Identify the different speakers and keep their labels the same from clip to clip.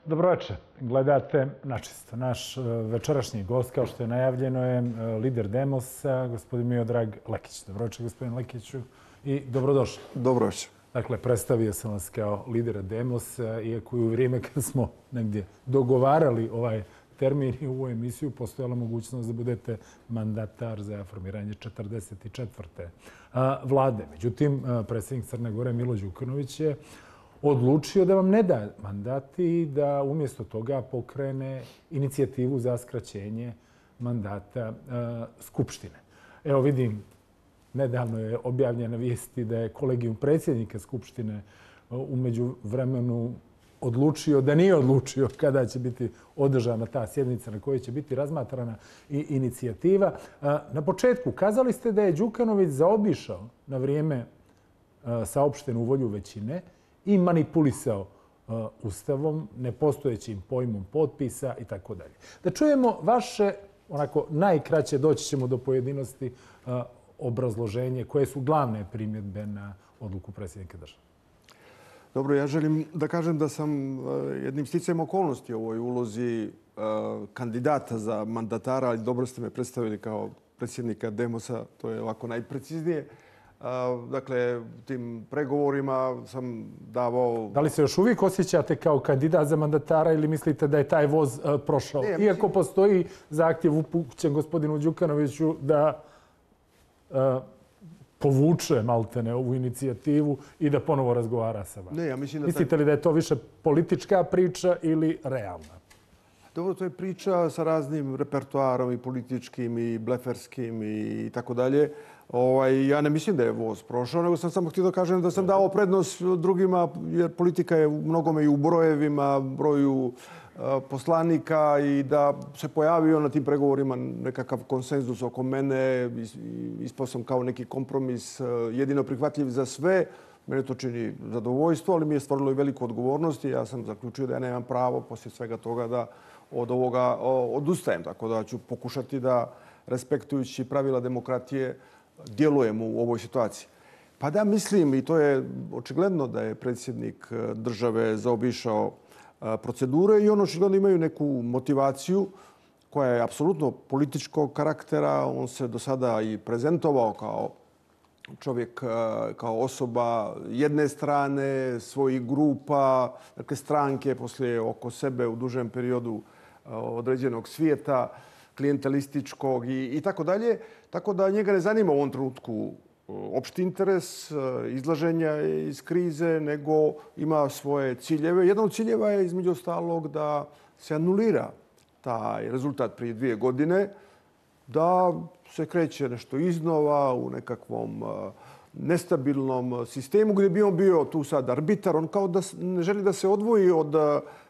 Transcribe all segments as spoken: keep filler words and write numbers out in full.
Speaker 1: Dobroveče. Gledate Načisto. Naš večerašnji gost, kao što je najavljeno, je lider Demosa, gospodin Miodrag Lekić. Dobroveče, gospodin Lekiću, i dobrodošli.
Speaker 2: Dobroveče.
Speaker 1: Dakle, predstavio sam vas kao lidera Demosa, iako je u vrijeme kad smo negdje dogovarali ovaj termin i ovu emisiju, postojala mogućnost da budete mandatar za formiranje četrdeset četvrte vlade. Međutim, predsjednik Crne Gore Milo Đukanović je odlučio da vam ne da mandat i da umjesto toga pokrene inicijativu za skraćenje mandata Skupštine. Evo vidim, nedavno je objavljena vijesti da je kolegijum predsjednika Skupštine u međuvremenu odlučio da nije odlučio kada će biti održana ta sjednica na kojoj će biti razmatrana i inicijativa. Na početku kazali ste da je Đukanović zaobišao na vrijeme saopštenu volju većine i manipulisao Ustavom, nepostojećim pojmom potpisa i tako dalje. Da čujemo vaše, onako najkraće, doći ćemo do pojedinosti, obrazloženje koje su glavne primjedbe na odluku predsjednika države.
Speaker 2: Dobro, ja želim da kažem da sam jednim sticajem okolnosti u ovoj ulozi kandidata za mandatara, ali dobro ste me predstavili kao predsjednika Demosa, to je ovako najpreciznije. Dakle, u tim pregovorima sam davao...
Speaker 1: Da li se još uvijek osjećate kao kandidat za mandatara ili mislite da je taj voz prošao? Ne, Iako postoji zahtjev upućen gospodinu Đukanoviću da povuče maltene ovu inicijativu i da ponovo razgovara sa vama.
Speaker 2: Ne, ja mislim da...
Speaker 1: Mislite li da je to više politička priča ili realna?
Speaker 2: Dobro, to je priča sa raznim repertoarom i političkim i bleferskim i tako dalje. Ja ne mislim da je voz prošao, nego sam samo htio da kažem da sam dao prednost drugima, jer politika je u mnogome i u brojevima, broju poslanika i da se pojavio na tim pregovorima nekakav konsenzus oko mene. Ispao sam kao neki kompromis jedino prihvatljiv za sve. Mene to čini zadovoljstvo, ali mi je stvorilo i veliku odgovornost i ja sam zaključio da ja nemam pravo poslije svega toga da od ovoga odustajem. Tako da ću pokušati da, respektujući pravila demokratije, djelujem u ovoj situaciji. Pa da, mislim, i to je očigledno da je predsjednik države zaobišao procedure i on očigledno imaju neku motivaciju koja je apsolutno političkog karaktera. On se do sada i prezentovao kao čovjek, kao osoba jedne strane, svojih grupa, dakle stranke poslije oko sebe u dužem periodu određenog svijeta, klijentelističkog i, i tako dalje. Tako da njega ne zanima u ovom trenutku opšti interes, izlaženja iz krize, nego ima svoje ciljeve. Jedan od ciljeva je između ostalog da se anulira taj rezultat prije dvije godine, da se kreće nešto iznova u nekakvom nestabilnom sistemu gdje bi on bio tu sad arbitar. On kao da ne želi da se odvoji od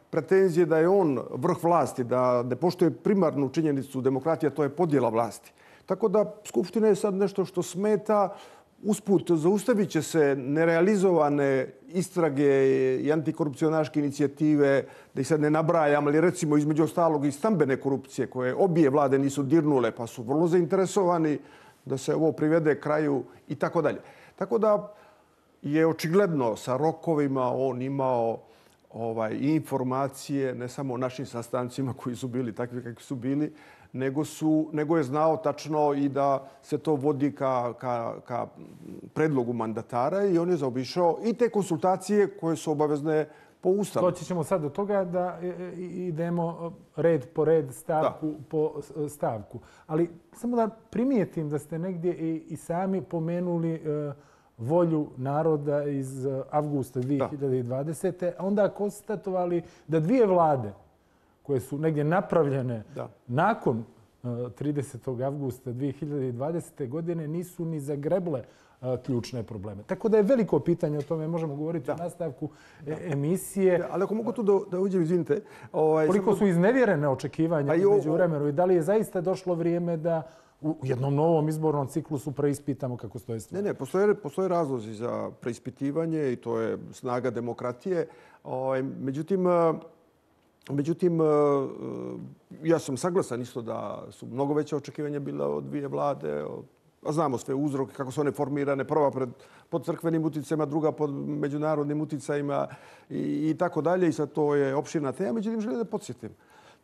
Speaker 2: pretenzije da je on vrh vlasti, da ne poštuje primarnu činjenicu demokratije, to je podjela vlasti. Tako da Skupština je sad nešto što smeta. Usput zaustavit će se nerealizovane istrage i antikorupcionaške inicijative, da ih sad ne nabrajam, ali recimo između ostalog i stambene korupcije koje obje vlade nisu dirnule pa su vrlo zainteresovani da se ovo privede kraju i tako dalje. Tako da je očigledno sa rokovima on imao ovaj, informacije, ne samo o našim sastancima koji su bili takvi kakvi su bili, nego, su, nego je znao tačno i da se to vodi ka, ka, ka predlogu mandatara i on je zaobišao i te konsultacije koje su obavezne po Ustavu.
Speaker 1: Doći ćemo sad do toga da idemo red po red, stavku da. po stavku. Ali samo da primijetim da ste negdje i, i sami pomenuli uh, volju naroda iz avgusta dvije hiljade dvadesete. A onda konstatovali da dvije vlade koje su negdje napravljene da. nakon tridesetog avgusta dvije hiljade dvadesete. godine nisu ni zagreble ključne probleme. Tako da je veliko pitanje, o tome možemo govoriti da. u nastavku da. emisije.
Speaker 2: Da, ali ako mogu tu da, da uđem, izvinite. Ovaj,
Speaker 1: Koliko samo... su iznevjerene očekivanja među vremenu i da li je zaista došlo vrijeme da u jednom novom izbornom ciklusu preispitamo kako stoje stvari?
Speaker 2: Ne, ne, postoje, postoje razlozi za preispitivanje i to je snaga demokratije. Ovaj, međutim, Međutim, ja sam saglasan isto da su mnogo veća očekivanja bila od dvije vlade, od znamo sve uzroke, kako su one formirane, prva pred, pod crkvenim uticajima, druga pod međunarodnim uticajima i, i tako dalje. I sad to je opširna tema. Međutim, želim da podsjetim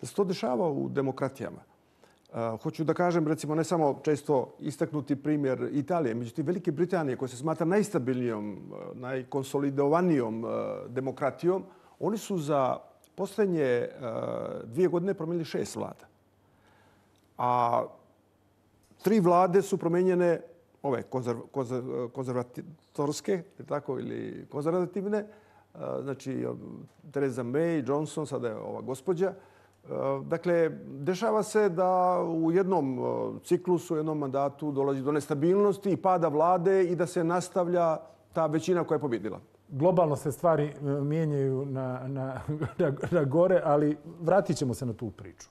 Speaker 2: da se to dešava u demokratijama. Uh, hoću da kažem, recimo, ne samo često istaknuti primjer Italije, međutim Velike Britanije, koja se smatra najstabilnijom, najkonsolidovanijom uh, demokratijom, oni su za posljednje uh, dvije godine promijenili šest vlada. A tri vlade su promijenjene, ove konzerv, konzerv, konzervatorske, tako, ili konzervativne, uh, znači Theresa May, Johnson, sada je ova gospođa. Dakle, dešava se da u jednom ciklusu, u jednom mandatu dolazi do nestabilnosti i pada vlade i da se nastavlja ta većina koja je pobjedila.
Speaker 1: Globalno se stvari mijenjaju na, na, na, na gore, ali vratit ćemo se na tu priču.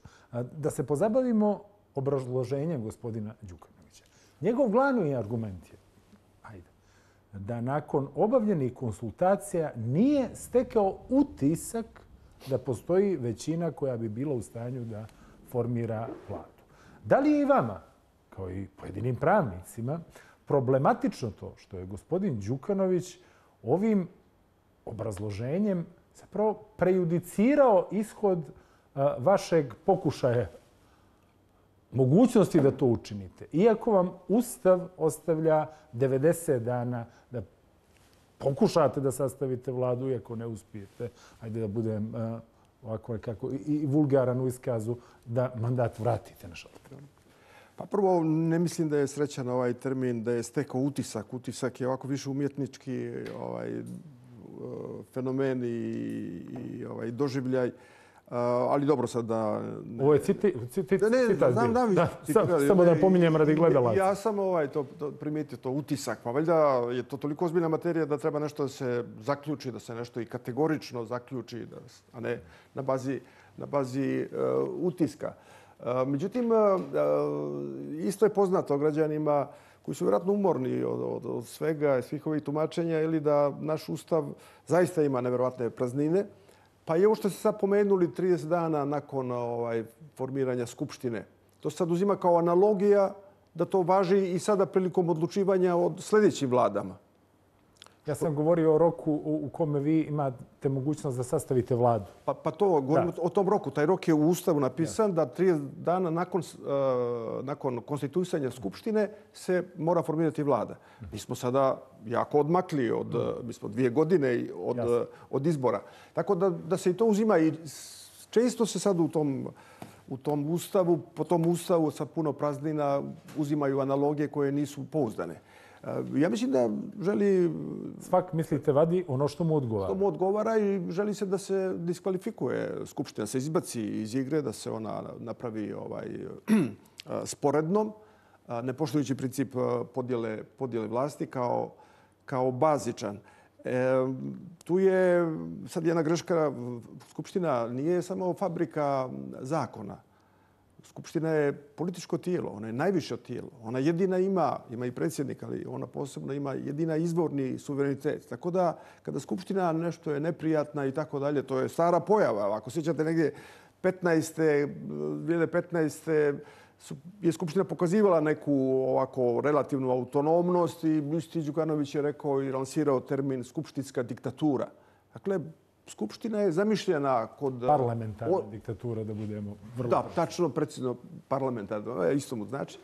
Speaker 1: Da se pozabavimo obrazloženjem gospodina Đukanovića. Njegov glavni argument je, ajde, da nakon obavljenih konsultacija nije stekao utisak da postoji većina koja bi bila u stanju da formira vladu. Da li je i vama, kao i pojedinim pravnicima, problematično to što je gospodin Đukanović ovim obrazloženjem zapravo prejudicirao ishod vašeg pokušaja mogućnosti da to učinite, iako vam Ustav ostavlja devedeset dana da pokušate da sastavite vladu, iako ne uspijete, ajde da budem uh, ovako kako, i, i vulgaran u iskazu, da mandat vratite na šalter?
Speaker 2: Pa prvo, ne mislim da je srećan ovaj termin, da je stekao utisak. Utisak je ovako više umjetnički ovaj, fenomen i, i ovaj, doživljaj. Uh, ali dobro sad da...
Speaker 1: Ne, Ovo je citi, citi,
Speaker 2: da, ne,
Speaker 1: citat.
Speaker 2: Znam, znam,
Speaker 1: da, sam, samo da pominjem radi gledalaca.
Speaker 2: Ja sam ovaj, to, to primijetio, to utisak. Pa valjda je to toliko ozbiljna materija da treba nešto da se zaključi, da se nešto i kategorično zaključi, da, a ne na bazi, na bazi uh, utiska. Uh, međutim, uh, isto je poznato građanima koji su vjerojatno umorni od, od, od svega, svih ovih tumačenja, ili da naš Ustav zaista ima nevjerovatne praznine. Pa i ovo što ste sad pomenuli trideset dana nakon ovaj, formiranja Skupštine. To se sad uzima kao analogija da to važi i sada prilikom odlučivanja o sljedećim vladama.
Speaker 1: Ja sam govorio o roku u kome vi imate mogućnost da sastavite vladu.
Speaker 2: Pa, pa to, govorim o tom roku. Taj rok je u Ustavu napisan da trideset dana nakon, uh, nakon konstituisanja Skupštine se mora formirati vlada. Mi smo sada jako odmakli od, mm. mi smo dvije godine od, od izbora. Tako da, da se i to uzima i često se sad u tom, u tom Ustavu, po tom Ustavu sa puno praznina uzimaju analogije koje nisu pouzdane. Ja mislim da želi...
Speaker 1: Svak, mislite, vadi ono što mu odgovara.
Speaker 2: Što mu odgovara i želi se da se diskvalifikuje Skupština, da se izbaci iz igre, da se ona napravi ovaj, sporednom, ne poštujući princip podjele, podjele vlasti kao, kao bazičan. E, tu je sad jedna greška. Skupština nije samo fabrika zakona. Skupština je političko tijelo, ona je najviše tijelo. Ona jedina ima, ima i predsjednik, ali ona posebno ima jedina izvorni suverenitet. Tako da, kada Skupština nešto je neprijatna i tako dalje, to je stara pojava. Ako sjećate negdje petnaeste, dvije hiljade petnaeste je Skupština pokazivala neku ovako relativnu autonomnost i isti Đukanović je rekao i lansirao termin skupštinska diktatura. Dakle, Skupština je zamišljena kod...
Speaker 1: Parlamentarna o... diktatura, da budemo vrlo...
Speaker 2: Da, tačno, precizno parlamentarno, isto mu znači.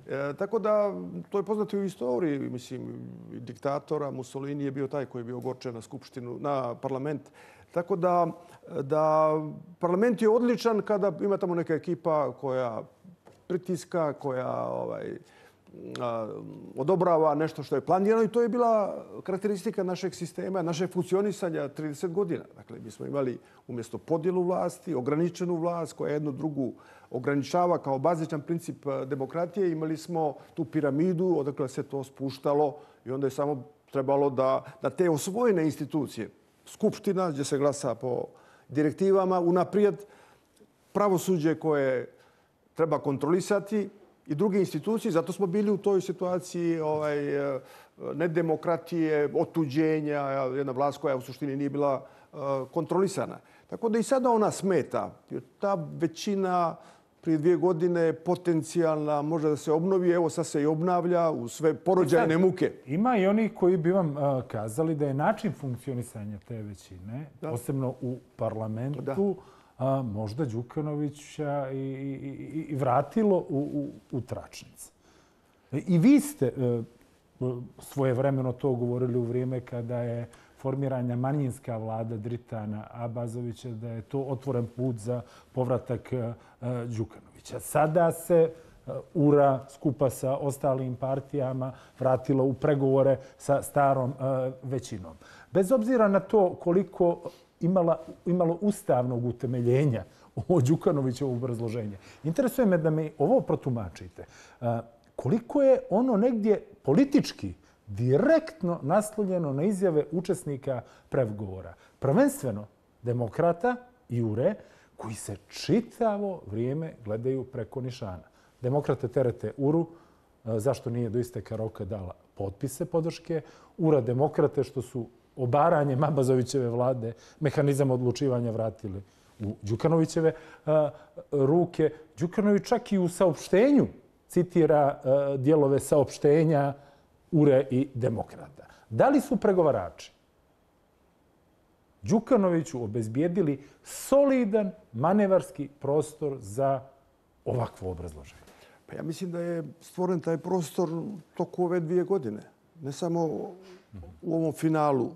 Speaker 2: E, tako da, to je poznato i u istoriji, mislim, diktatora. Mussolini je bio taj koji je bio ogorčen na Skupštinu, na parlament. Tako da, da parlament je odličan kada ima tamo neka ekipa koja pritiska, koja ovaj, odobrava nešto što je planirano i to je bila karakteristika našeg sistema, našeg funkcionisanja trideset godina. Dakle, mi smo imali umjesto podjelu vlasti, ograničenu vlast koja jednu drugu ograničava kao bazičan princip demokratije. Imali smo tu piramidu odakle se to spuštalo i onda je samo trebalo da, da te osvojene institucije, Skupština gdje se glasa po direktivama, unaprijed pravosuđe koje treba kontrolisati i druge institucije. Zato smo bili u toj situaciji ovaj, nedemokratije, otuđenja, jedna vlast koja u suštini nije bila uh, kontrolisana. Tako da i sada ona smeta. Ta većina prije dvije godine potencijalna, može da se obnovi, evo sad se i obnavlja u sve porođajne muke.
Speaker 1: Ima i oni koji bi vam uh, kazali da je način funkcionisanja te većine, da. posebno u parlamentu, da. uh, možda Đukanovića i, i, i vratilo u, u, u tračnice. I vi ste uh, svojevremeno to govorili u vrijeme kada je formiranja manjinska vlada Dritana Abazovića, da je to otvoren put za povratak Đukanovića. Sada se U R A skupa sa ostalim partijama vratila u pregovore sa starom većinom. Bez obzira na to koliko imala, imalo ustavnog utemeljenja ovo Đukanovićevo obrazloženje, interesuje me da mi ovo protumačite. Koliko je ono negdje politički direktno naslonjeno na izjave učesnika pregovora. Prvenstveno demokrata i U R E koji se čitavo vrijeme gledaju preko nišana. Demokrate terete U R U, zašto nije do isteka roka dala potpise podrške. U R A demokrate što su obaranjem Abazovićeve vlade mehanizam odlučivanja vratili u Đukanovićeve ruke. Đukanović čak i u saopštenju citira dijelove saopštenja U R E i demokrata. Da li su pregovarači Đukanoviću obezbijedili solidan manevarski prostor za ovakvo obrazloženje?
Speaker 2: Pa ja mislim da je stvoren taj prostor toku ove dvije godine. Ne samo u ovom finalu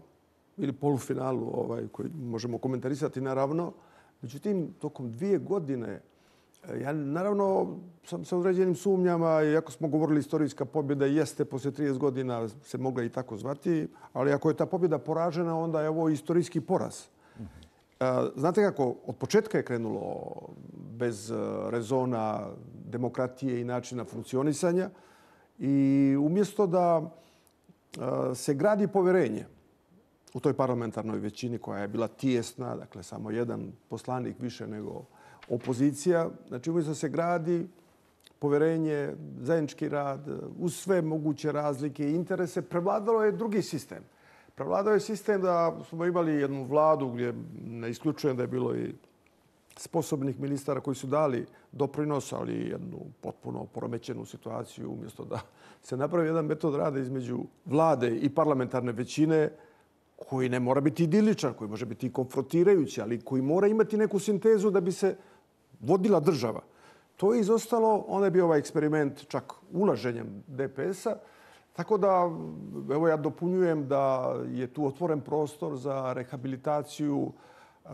Speaker 2: ili polufinalu ovaj, koji možemo komentarisati naravno. Međutim, tokom dvije godine ja naravno sam sa određenim sumnjama, iako smo govorili istorijska pobjeda jeste poslije trideset godina se mogla i tako zvati, ali ako je ta pobjeda poražena, onda je ovo istorijski poraz. Znate kako, od početka je krenulo bez rezona demokratije i načina funkcionisanja i umjesto da se gradi poverenje u toj parlamentarnoj većini koja je bila tijesna, dakle samo jedan poslanik više nego opozicija, znači umjesto da se gradi poverenje, zajednički rad, uz sve moguće razlike i interese, prevladalo je drugi sistem. Prevladao je sistem da smo imali jednu vladu gdje ne isključujem da je bilo i sposobnih ministara koji su dali doprinos, ali jednu potpuno poremećenu situaciju umjesto da se napravi jedan metod rada između vlade i parlamentarne većine koji ne mora biti idiličan, koji može biti konfrontirajući, ali koji mora imati neku sintezu da bi se vodila država. To je izostalo, onda je bio ovaj eksperiment čak ulaženjem D P S-a. Tako da, evo ja dopunjujem da je tu otvoren prostor za rehabilitaciju uh,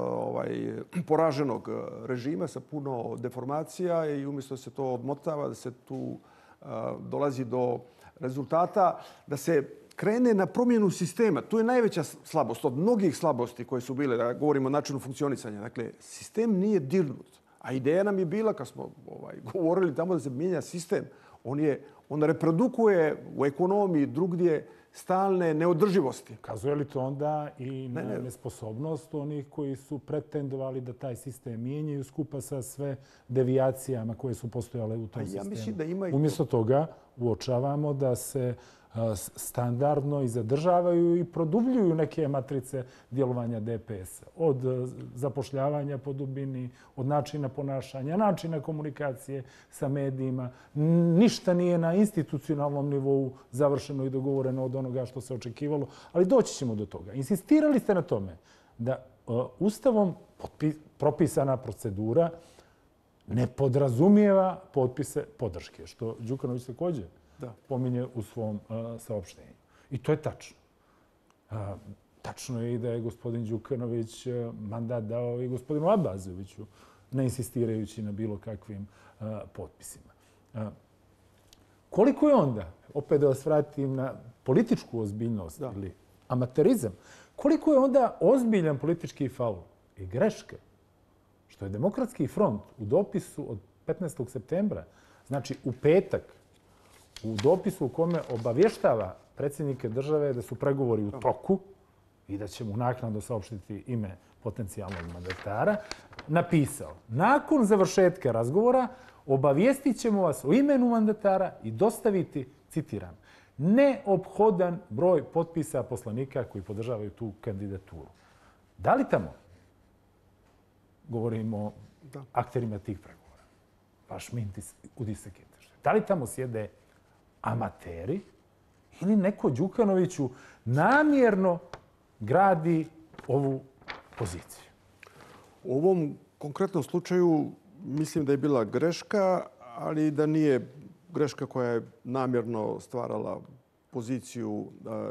Speaker 2: ovaj, poraženog režima sa puno deformacija i umjesto da se to odmotava, da se tu uh, dolazi do rezultata, da se krene na promjenu sistema. Tu je najveća slabost od mnogih slabosti koje su bile, da govorimo o načinu funkcionisanja. Dakle, sistem nije dirnut. A ideja nam je bila, kad smo ovaj, govorili tamo da se mijenja sistem, on, je, on reprodukuje u ekonomiji drugdje stalne neodrživosti.
Speaker 1: Kazuje li to onda i na ne, ne. nesposobnost onih koji su pretendovali da taj sistem mijenjaju skupa sa sve devijacijama koje su postojale u tom ja sistemu?
Speaker 2: Mislim da ima i
Speaker 1: umjesto toga uočavamo da se standardno i zadržavaju i produbljuju neke matrice djelovanja D P S-a. Od zapošljavanja po dubini, od načina ponašanja, načina komunikacije sa medijima. Ništa nije na institucionalnom nivou završeno i dogovoreno od onoga što se očekivalo, ali doći ćemo do toga. Insistirali ste na tome da Ustavom propisana procedura ne podrazumijeva potpise podrške, što Đukanović također da. pominje u svom uh, saopštenju. I to je tačno. Uh, tačno je i da je gospodin Đukanović uh, mandat dao i gospodinu Abazoviću, ne insistirajući na bilo kakvim uh, potpisima. Uh, koliko je onda, opet da vas vratim na političku ozbiljnost da. ili amaterizam, koliko je onda ozbiljan politički faul i greška što je Demokratski front u dopisu od petnaestog septembra, znači u petak, u dopisu u kome obavještava predsjednike države da su pregovori u toku i da će mu naknadno saopštiti ime potencijalnog mandatara, napisao: nakon završetka razgovora obavijestit ćemo vas o imenu mandatara i dostaviti, citiram, neophodan broj potpisa poslanika koji podržavaju tu kandidaturu. Da li tamo govorimo o akterima tih pregovora? baš mi utisak je. Da li tamo sjede amateri ili neko Đukanoviću namjerno gradi ovu poziciju?
Speaker 2: U ovom konkretnom slučaju mislim da je bila greška, ali da nije greška koja je namjerno stvarala poziciju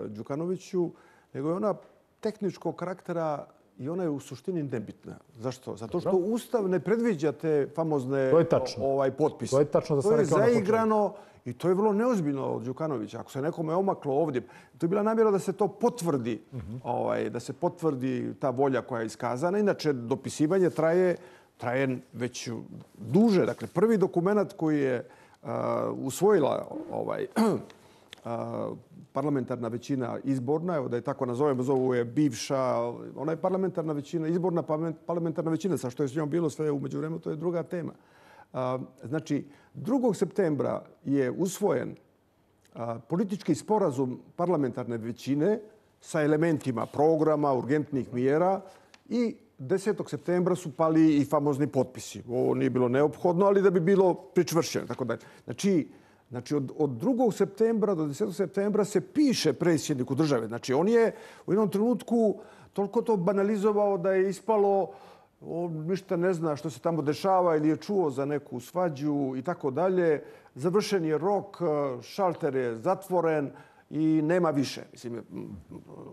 Speaker 2: Đukanoviću, nego je ona tehničkog karaktera i ona je u suštini nebitna. Zašto? Zato što Ustav ne predviđa te famozne ovaj, potpise.
Speaker 1: To je tačno da sam
Speaker 2: to je
Speaker 1: rekao na početku.
Speaker 2: zaigrano i to je vrlo neozbiljno od Đukanovića. Ako se nekome omaklo ovdje, to je bila namjera da se to potvrdi, uh-huh. ovaj, da se potvrdi ta volja koja je iskazana. Inače, dopisivanje traje, traje već duže. Dakle, prvi dokument koji je uh, usvojila ovaj, uh, parlamentarna većina izborna, evo da je tako nazovemo, zovu je bivša, ona je parlamentarna većina, izborna parlamentarna većina, sa što je s njom bilo sve u međuvremenu, to je druga tema. Znači, drugog septembra je usvojen politički sporazum parlamentarne većine sa elementima programa, urgentnih mjera i desetog septembra su pali i famozni potpisi. Ovo nije bilo neophodno, ali da bi bilo pričvršćeno. Tako da, znači, Znači, od, od drugog septembra do desetog septembra se piše predsjedniku države. Znači, on je u jednom trenutku toliko to banalizovao da je ispalo, on ništa ne zna što se tamo dešava ili je čuo za neku svađu i tako dalje. Završen je rok, šalter je zatvoren i nema više. Mislim,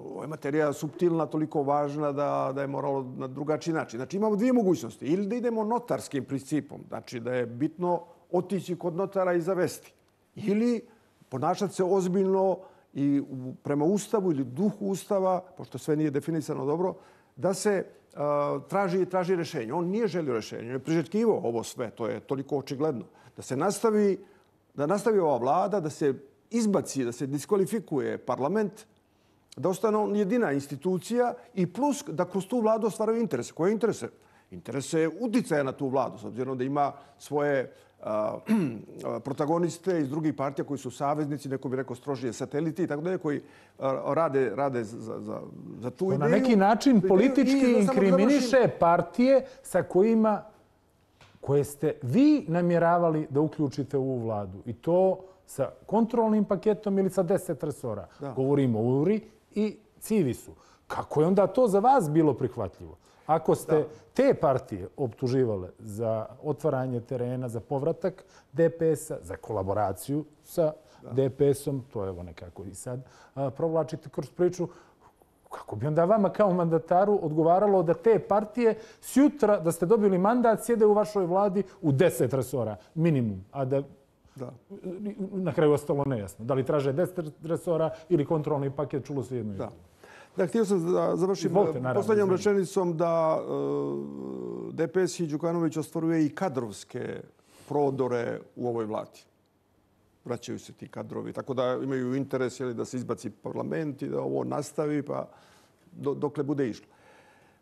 Speaker 2: ovo je materija suptilna, toliko važna da, da je moralo na drugačiji način. Znači, imamo dvije mogućnosti. Ili da idemo notarskim principom, znači da je bitno otići kod notara i zavesti. Ili ponašati se ozbiljno i prema Ustavu ili duhu Ustava, pošto sve nije definisano dobro, da se uh, traži, traži rješenje. On nije želio rješenje, on je priželjkivao ovo sve, to je toliko očigledno. Da se nastavi, da nastavi ova vlada, da se izbaci, da se diskvalifikuje parlament, da ostane on jedina institucija i plus da kroz tu vladu ostvaraju interese. Koje interese? Interese uticaja na tu vladu, s obzirom da ima svoje protagoniste iz drugih partija koji su saveznici, neko bi rekao strožije sateliti i tako dalje, koji rade, rade za, za, za tu ideju.
Speaker 1: Na neki način politički inkriminiše partije sa kojima, koje ste vi namjeravali da uključite u ovu vladu. I to sa kontrolnim paketom ili sa deset resora. Da. Govorimo o U R I i Civisu. Kako je onda to za vas bilo prihvatljivo? Ako ste da. te partije optuživale za otvaranje terena, za povratak D P S-a, za kolaboraciju sa da. D P S-om, to evo nekako i sad a, provlačite kroz priču, kako bi onda vama kao mandataru odgovaralo da te partije sjutra, da ste dobili mandat, sjede u vašoj vladi u deset resora, minimum, a da, da. na kraju ostalo nejasno. Da li traže deset resora ili kontrolni paket, čulo se jedno i drugo.
Speaker 2: Da, htio sam da završim posljednjom rečenicom da uh, D P S i Đukanović ostvaruje i kadrovske prodore u ovoj vladi. Vraćaju se ti kadrovi, tako da imaju interes jeli, da se izbaci parlament i da ovo nastavi, pa do, dokle bude išlo.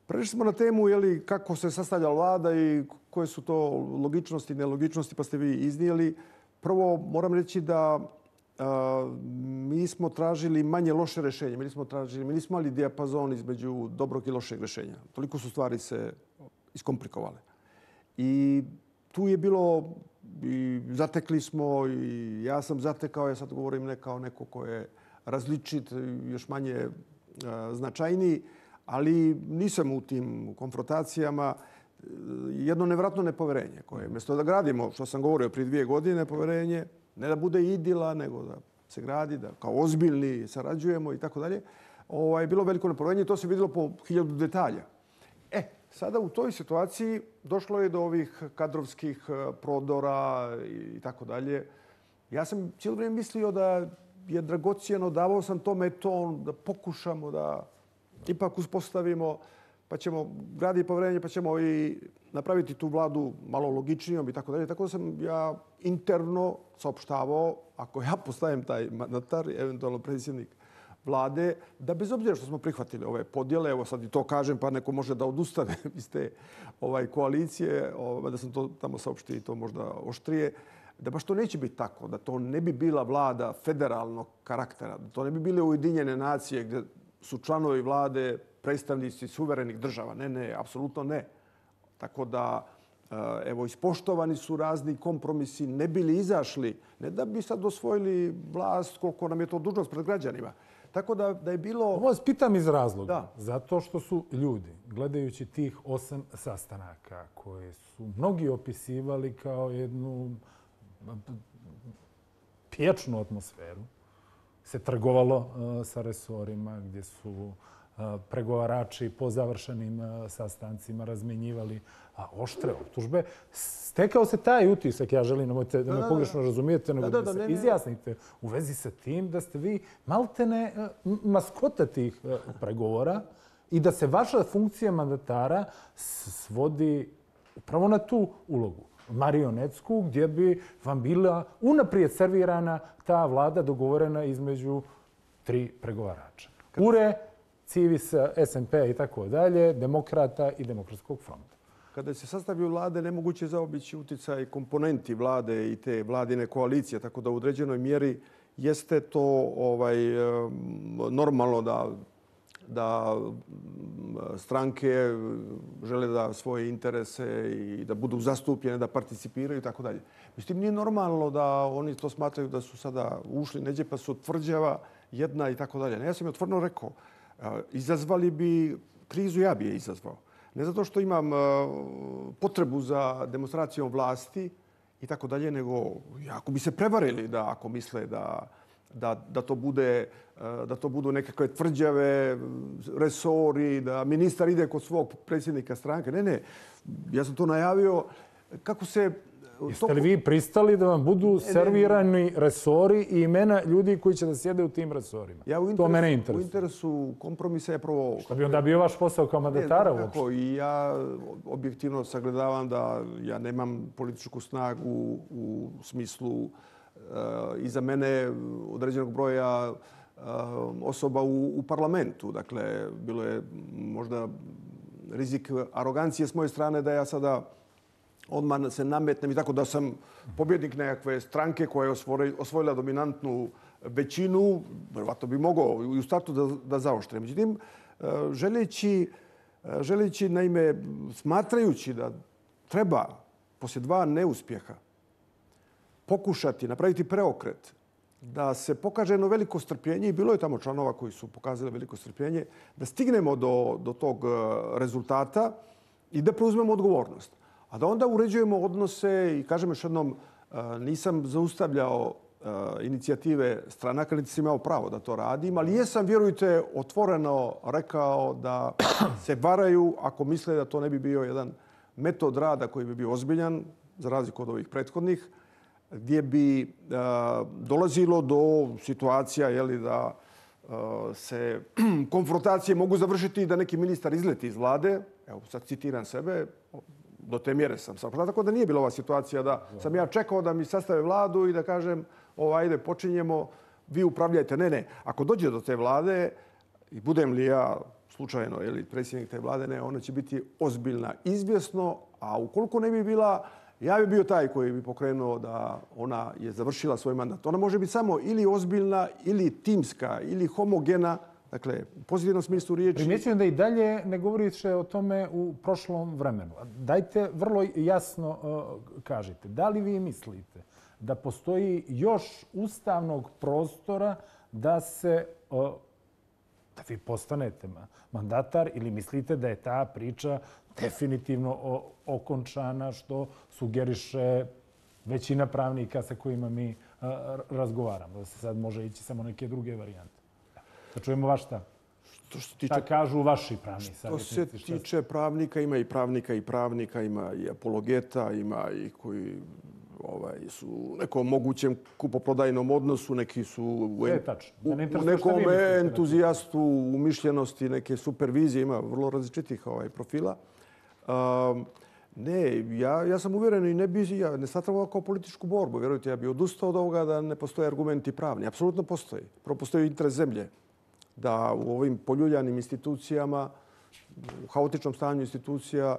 Speaker 2: Prešli smo na temu jeli, kako se sastavlja vlada i koje su to logičnosti i nelogičnosti, pa ste vi iznijeli. Prvo, moram reći da Uh, mi smo tražili manje loše rješenje. Mi nismo tražili, mi nismo imali dijapazon između dobrog i lošeg rješenja. Toliko su stvari se iskomplikovale. I tu je bilo, i zatekli smo, i ja sam zatekao, ja sad govorim ne kao neko ko je različit, još manje uh, značajniji, ali nisam u tim konfrontacijama. Jedno nevratno nepoverenje koje, mjesto da gradimo, što sam govorio prije dvije godine, poverenje, ne da bude idila, nego da se gradi, da kao ozbiljni sarađujemo i tako dalje. Ovaj, bilo veliko nepoverenje i to se vidjelo po hiljadu detalja. E, sada u toj situaciji došlo je do ovih kadrovskih prodora i tako dalje. Ja sam cijelo vrijeme mislio da je dragocijeno, davao sam tome ton, da pokušamo da ipak uspostavimo, pa ćemo graditi poverenje, pa ćemo i napraviti tu vladu malo logičnijom i tako dalje. Tako da sam ja interno saopštavao, ako ja postajem taj mandatar, eventualno predsjednik vlade, da bez obzira što smo prihvatili ove podjele, evo sad i to kažem, pa neko može da odustane iz te ovaj, koalicije, ovaj, da sam to tamo saopštio i to možda oštrije, da baš to neće biti tako, da to ne bi bila vlada federalnog karaktera, da to ne bi bile Ujedinjene nacije gdje su članovi vlade predstavnici suverenih država. Ne, ne, apsolutno ne. Tako da evo, ispoštovani su razni kompromisi, ne bili izašli, ne da bi sad osvojili vlast koliko nam je to dužnost pred građanima. Tako da, da je bilo...
Speaker 1: Ovo vas pitam iz razloga.
Speaker 2: Da.
Speaker 1: Zato što su ljudi, gledajući tih osam sastanaka koje su mnogi opisivali kao jednu pječnu atmosferu, se trgovalo uh, sa resorima gdje su uh, pregovarači po završenim uh, sastancima razmenjivali a, oštre optužbe. Stekao se taj utisak, ja želim, nemojte da me pogrešno razumijete, nego da, da, da, da se ne, izjasnite u vezi sa tim da ste vi maltene uh, maskota tih uh, pregovora i da se vaša funkcija mandatara svodi upravo na tu ulogu. Marionetsku, gdje bi vam bila unaprijed servirana ta vlada dogovorena između tri pregovarača. U R E, Civis, S N P i tako dalje, Demokrata i Demokratskog fronta.
Speaker 2: Kada se sastavljaju vlade, nemoguće je zaobići uticaj komponenti vlade i te vladine koalicije, tako da u određenoj mjeri jeste to ovaj, normalno da da stranke žele da svoje interese i da budu zastupljene, da participiraju i tako dalje. Mislim, nije normalno da oni to smatraju da su sada ušli neđe pa su tvrđava jedna i tako dalje. Ja sam je otvoreno rekao, izazvali bi krizu, ja bi je izazvao. Ne zato što imam potrebu za demonstracijom vlasti i tako dalje, nego ako bi se prevarili da ako misle da Da, da, to bude, da to budu nekakve tvrđave, resori, da ministar ide kod svog predsjednika stranke. Ne, ne, ja sam to najavio. Kako se...
Speaker 1: Jeste li vi pristali da vam budu servirani resori i imena ljudi koji će da sjede u tim resorima?
Speaker 2: Ja u interesu,
Speaker 1: to mene interesuje.
Speaker 2: U interesu kompromisa je prvo...
Speaker 1: Što bi onda bio vaš posao kao mandatara uopšte?
Speaker 2: Tako, i ja objektivno sagledavam da ja nemam političku snagu u smislu iza mene određenog broja osoba u, u parlamentu. Dakle, bilo je možda rizik arogancije s moje strane da ja sada odmah se nametnem i tako da sam pobjednik nekakve stranke koja je osvojila dominantnu većinu. Vjerovatno bi mogao i u startu da, da zaoštre. Međutim, želeći, želeći, naime, smatrajući da treba poslije dva neuspjeha pokušati napraviti preokret, da se pokaže jedno veliko strpljenje, i bilo je tamo članova koji su pokazali veliko strpljenje, da stignemo do, do tog rezultata i da preuzmemo odgovornost. A da onda uređujemo odnose i, kažem još jednom, nisam zaustavljao inicijative stranaka, niti sam imao pravo da to radim, ali jesam, vjerujte, otvoreno rekao da se varaju ako misle da to ne bi bio jedan metod rada koji bi bio ozbiljan, za razliku od ovih prethodnih, gdje bi uh, dolazilo do situacija jeli, da uh, se konfrontacije mogu završiti i da neki ministar izleti iz vlade. Evo, sad citiram sebe, do te mjere sam sam. Tako da nije bila ova situacija da sam ja čekao da mi sastave vladu i da kažem, ovo, ajde, počinjemo, vi upravljajte. Ne, ne. Ako dođe do te vlade i budem li ja slučajno jeli, predsjednik te vlade, ne, ona će biti ozbiljna, izvjesno, a ukoliko ne bi bila, ja bi bio taj koji bi pokrenuo da ona je završila svoj mandat. Ona može biti samo ili ozbiljna, ili timska, ili homogena, dakle, u pozitivnom smislu riječi.
Speaker 1: Primjećujem da i dalje ne govorite o tome u prošlom vremenu. Dajte vrlo jasno uh, kažite, da li vi mislite da postoji još ustavnog prostora da se uh, da vi postanete mandatar ili mislite da je ta priča definitivno okončana, što sugeriše većina pravnika sa kojima mi razgovaramo. Da se sad može ići samo neke druge varijante. Da čujemo vaš stav. Šta kažu vaši pravni savjetnici?
Speaker 2: Što se tiče pravnika, ima i pravnika i pravnika, ima i apologeta, ima i koji ovaj, su u nekom mogućem kupoprodajnom odnosu, neki su u, en, u, u nekom entuzijastu, umišljenosti, neke supervizije, ima vrlo različitih ovaj, profila. Um, ne, ja, ja sam uvjeren i ne bi, ja ne smatram ovo kao političku borbu. Vjerujte, ja bih odustao od ovoga da ne postoje argumenti pravni. Apsolutno postoji. Prvo postoji interes zemlje da u ovim poljuljanim institucijama, u haotičnom stanju institucija,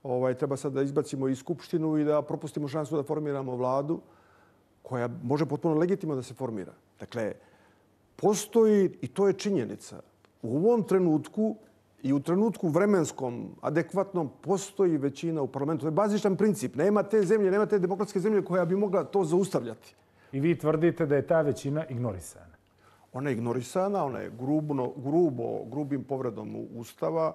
Speaker 2: ovaj, treba sad da izbacimo i skupštinu i da propustimo šansu da formiramo vladu koja može potpuno legitimno da se formira. Dakle, postoji, i to je činjenica, u ovom trenutku i u trenutku vremenskom, adekvatnom, postoji većina u parlamentu. To je bazičan princip. Nema te zemlje, nema te demokratske zemlje koja bi mogla to zaustavljati.
Speaker 1: I vi tvrdite da je ta većina ignorisana?
Speaker 2: Ona je ignorisana, ona je grubno, grubo, grubim povredom Ustava.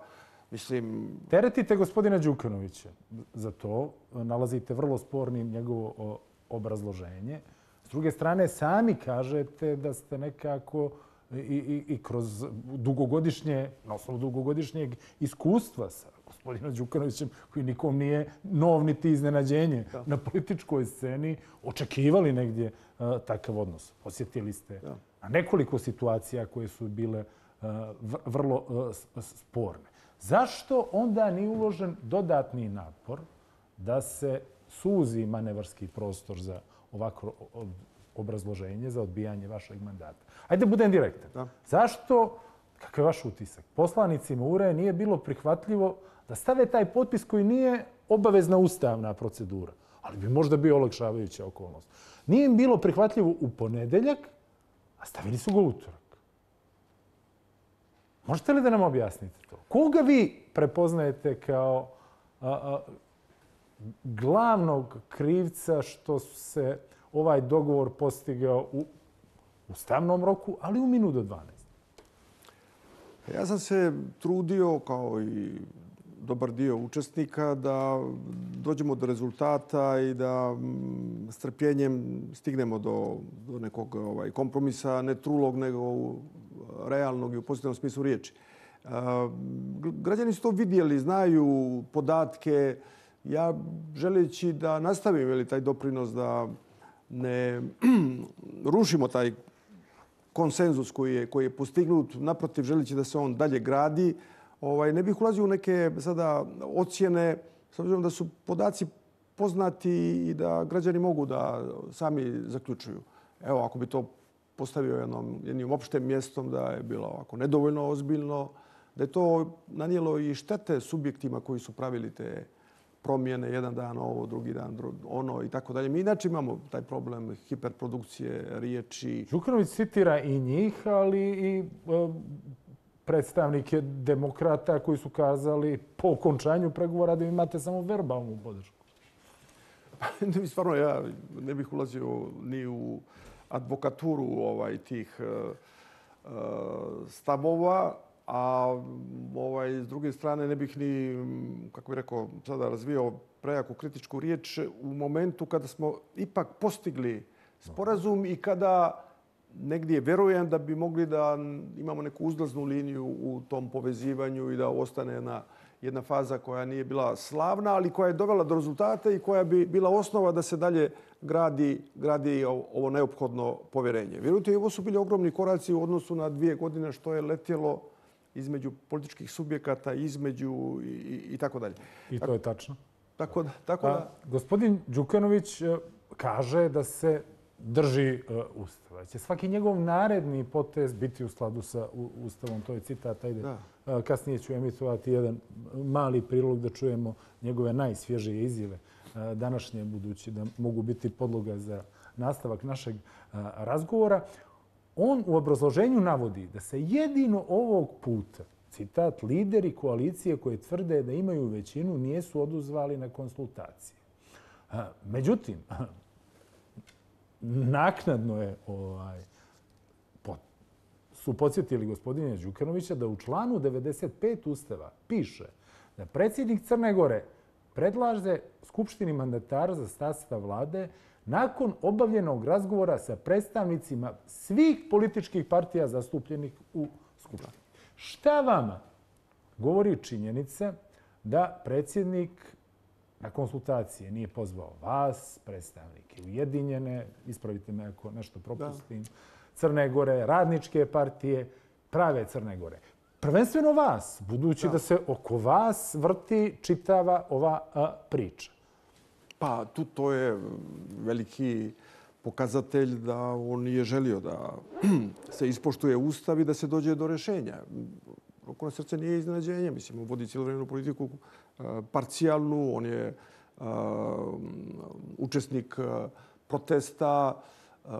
Speaker 2: Mislim...
Speaker 1: Teretite gospodina Đukanovića za to. Nalazite vrlo spornim njegovo obrazloženje. S druge strane, sami kažete da ste nekako i, i, i kroz dugogodišnje, na osnovu dugogodišnjeg iskustva sa gospodinom Đukanovićem, koji nikom nije nov niti iznenađenje da. na političkoj sceni, očekivali negdje uh, takav odnos. Osjetili ste da. na nekoliko situacija koje su bile uh, vrlo uh, sporne. Zašto onda nije uložen dodatni napor da se suzi manevarski prostor za ovako obrazloženje, za odbijanje vašeg mandata? Ajde, budem direktan. Da. Zašto, kakav je vaš utisak, poslanicima U R E nije bilo prihvatljivo da stave taj potpis koji nije obavezna ustavna procedura, ali bi možda bio olakšavajuća okolnost? Nije im bilo prihvatljivo u ponedeljak, a stavili su ga u utorak. Možete li da nam objasnite to? Koga vi prepoznajete kao a, a, glavnog krivca što se ovaj dogovor postigao u ustavnom roku, ali u minut do dvanaest?
Speaker 2: Ja sam se trudio, kao i dobar dio učesnika, da dođemo do rezultata i da strpljenjem stignemo do, do nekog ovaj, kompromisa, ne trulog, nego realnog i u pozitivnom smislu riječi. Građani su to vidjeli, znaju podatke. Ja želeći da nastavim ili taj doprinos da ne rušimo taj konsenzus koji je, koji je postignut, naprotiv želeći da se on dalje gradi, ovaj, ne bih ulazio u neke sada ocjene, s obzirom da su podaci poznati i da građani mogu da sami zaključuju. Evo, ako bi to postavio jednom, jednim opštem mjestom, da je bilo ovako nedovoljno ozbiljno, da je to nanijelo i štete subjektima koji su pravili te promjene, jedan dan ovo, drugi dan ono i tako dalje. Mi inače imamo taj problem hiperprodukcije riječi.
Speaker 1: Đukanović citira i njih, ali i e, predstavnike demokrata koji su kazali po okončanju pregovora da imate samo verbalnu podršku.
Speaker 2: Ne, stvarno, ja ne bih ulazio ni u advokaturu ovaj, tih uh, stavova, a ovaj, s druge strane ne bih ni, kako bih rekao, sada razvio prejaku kritičku riječ u momentu kada smo ipak postigli sporazum i kada negdje vjerujem da bi mogli da imamo neku uzlaznu liniju u tom povezivanju i da ostane jedna, jedna faza koja nije bila slavna, ali koja je dovela do rezultata i koja bi bila osnova da se dalje gradi, gradi ovo neophodno povjerenje. Vjerujte, ovo su bili ogromni koraci u odnosu na dvije godine što je letjelo između političkih subjekata, između i, i, i tako dalje.
Speaker 1: I to je tačno.
Speaker 2: Tako da, tako da...
Speaker 1: A, gospodin Đukanović kaže da se drži uh, Ustava. Će svaki njegov naredni potez biti u skladu sa Ustavom. To je citat. Ajde. Uh, kasnije ću emitovati jedan mali prilog da čujemo njegove najsvježije izjave uh, današnje, budući da mogu biti podloga za nastavak našeg uh, razgovora. On u obrazloženju navodi da se jedino ovog puta, citat, lideri koalicije koje tvrde da imaju većinu nijesu oduzvali na konsultacije. Uh, međutim, naknadno je ovaj, po, su podsjetili gospodina Đukanovića da u članu devedeset pet Ustava piše da predsjednik Crne Gore predlaže Skupštini mandatara za sastav vlade nakon obavljenog razgovora sa predstavnicima svih političkih partija zastupljenih u Skupštini. Šta vama govori činjenica da predsjednik na konsultacije nije pozvao vas, predstavnike Ujedinjene, ispravite me ako nešto propustim, da. Crne Gore, radničke partije, prave Crne Gore. Prvenstveno vas, budući da, da se oko vas vrti čitava ova a, priča.
Speaker 2: Pa tu to je veliki pokazatelj da on nije želio da se ispoštuje Ustav i da se dođe do rješenja. Ruku na srce nije iznenađenje. Mislim, on vodi cijelu politiku parcijalnu. On je uh, učesnik uh, protesta uh,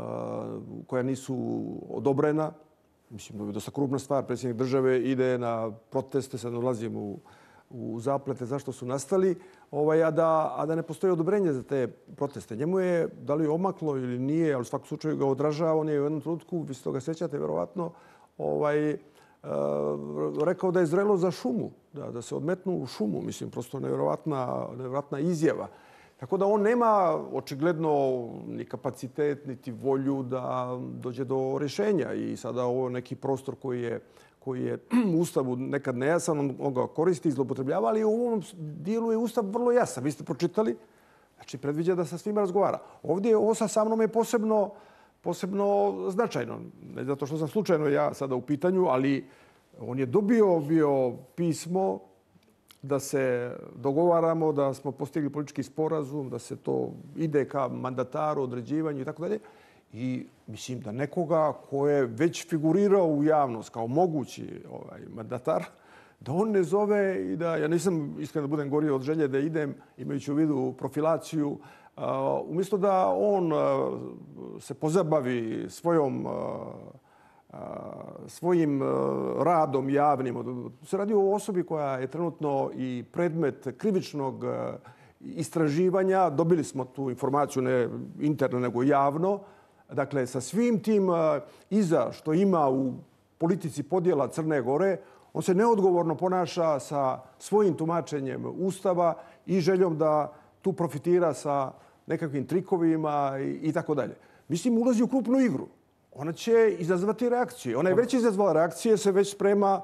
Speaker 2: koja nisu odobrena. mislim, dosta krupna stvar. Predsjednik države ide na proteste, sad ulazim u, u zaplete zašto su nastali, ovaj, a, da, a da ne postoji odobrenje za te proteste. Njemu je, da li omaklo ili nije, ali u svakom slučaju ga odražava, on je u jednom trenutku, vi se toga sjećate, verovatno, ovaj, Uh, rekao da je zrelo za šumu, da, da se odmetnu u šumu. Mislim, prosto nevjerovatna, nevjerovatna izjava. Tako da on nema očigledno ni kapacitet, niti volju da dođe do rješenja. I sada ovo neki prostor koji je, koji je u Ustavu nekad nejasan, on, on ga koristi i zloupotrebljava, ali u ovom dijelu je Ustav vrlo jasan. Vi ste pročitali, znači predviđa da sa svima razgovara. Ovdje ovo sa mnom je posebno posebno značajno. Ne zato što sam slučajno ja sada u pitanju, ali on je dobio bio pismo da se dogovaramo, da smo postigli politički sporazum, da se to ide ka mandataru, određivanju i tako dalje. I mislim da nekoga ko je već figurirao u javnost kao mogući ovaj, mandatar, da on ne zove i da, ja nisam iskreno da budem gorio od želje da idem, imajući u vidu profilaciju, Uh, umjesto da on uh, se pozabavi svojom, uh, uh, svojim uh, radom javnim. Se radi o osobi koja je trenutno i predmet krivičnog uh, istraživanja. Dobili smo tu informaciju ne interno nego javno. Dakle, sa svim tim uh, iza što ima u politici podjela Crne Gore, on se neodgovorno ponaša sa svojim tumačenjem Ustava i željom da tu profitira sa nekakvim trikovima i, i tako dalje. Mislim, ulazi u krupnu igru. Ona će izazvati reakcije. Ona je već izazvala reakcije, se već sprema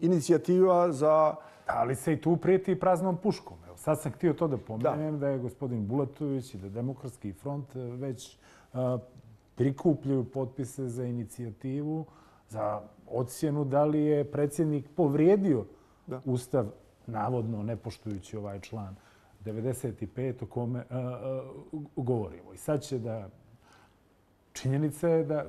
Speaker 2: inicijativa za...
Speaker 1: Ali se i tu prijeti praznom puškom. Evo, sad sam htio to da pomenem, da, da je gospodin Bulatović i da Demokratski front već a, prikupljaju potpise za inicijativu, za ocjenu da li je predsjednik povrijedio da. Ustav, navodno ne poštujući ovaj član devedeset pet o kome a, a, govorimo. I sad će da... Činjenica je da...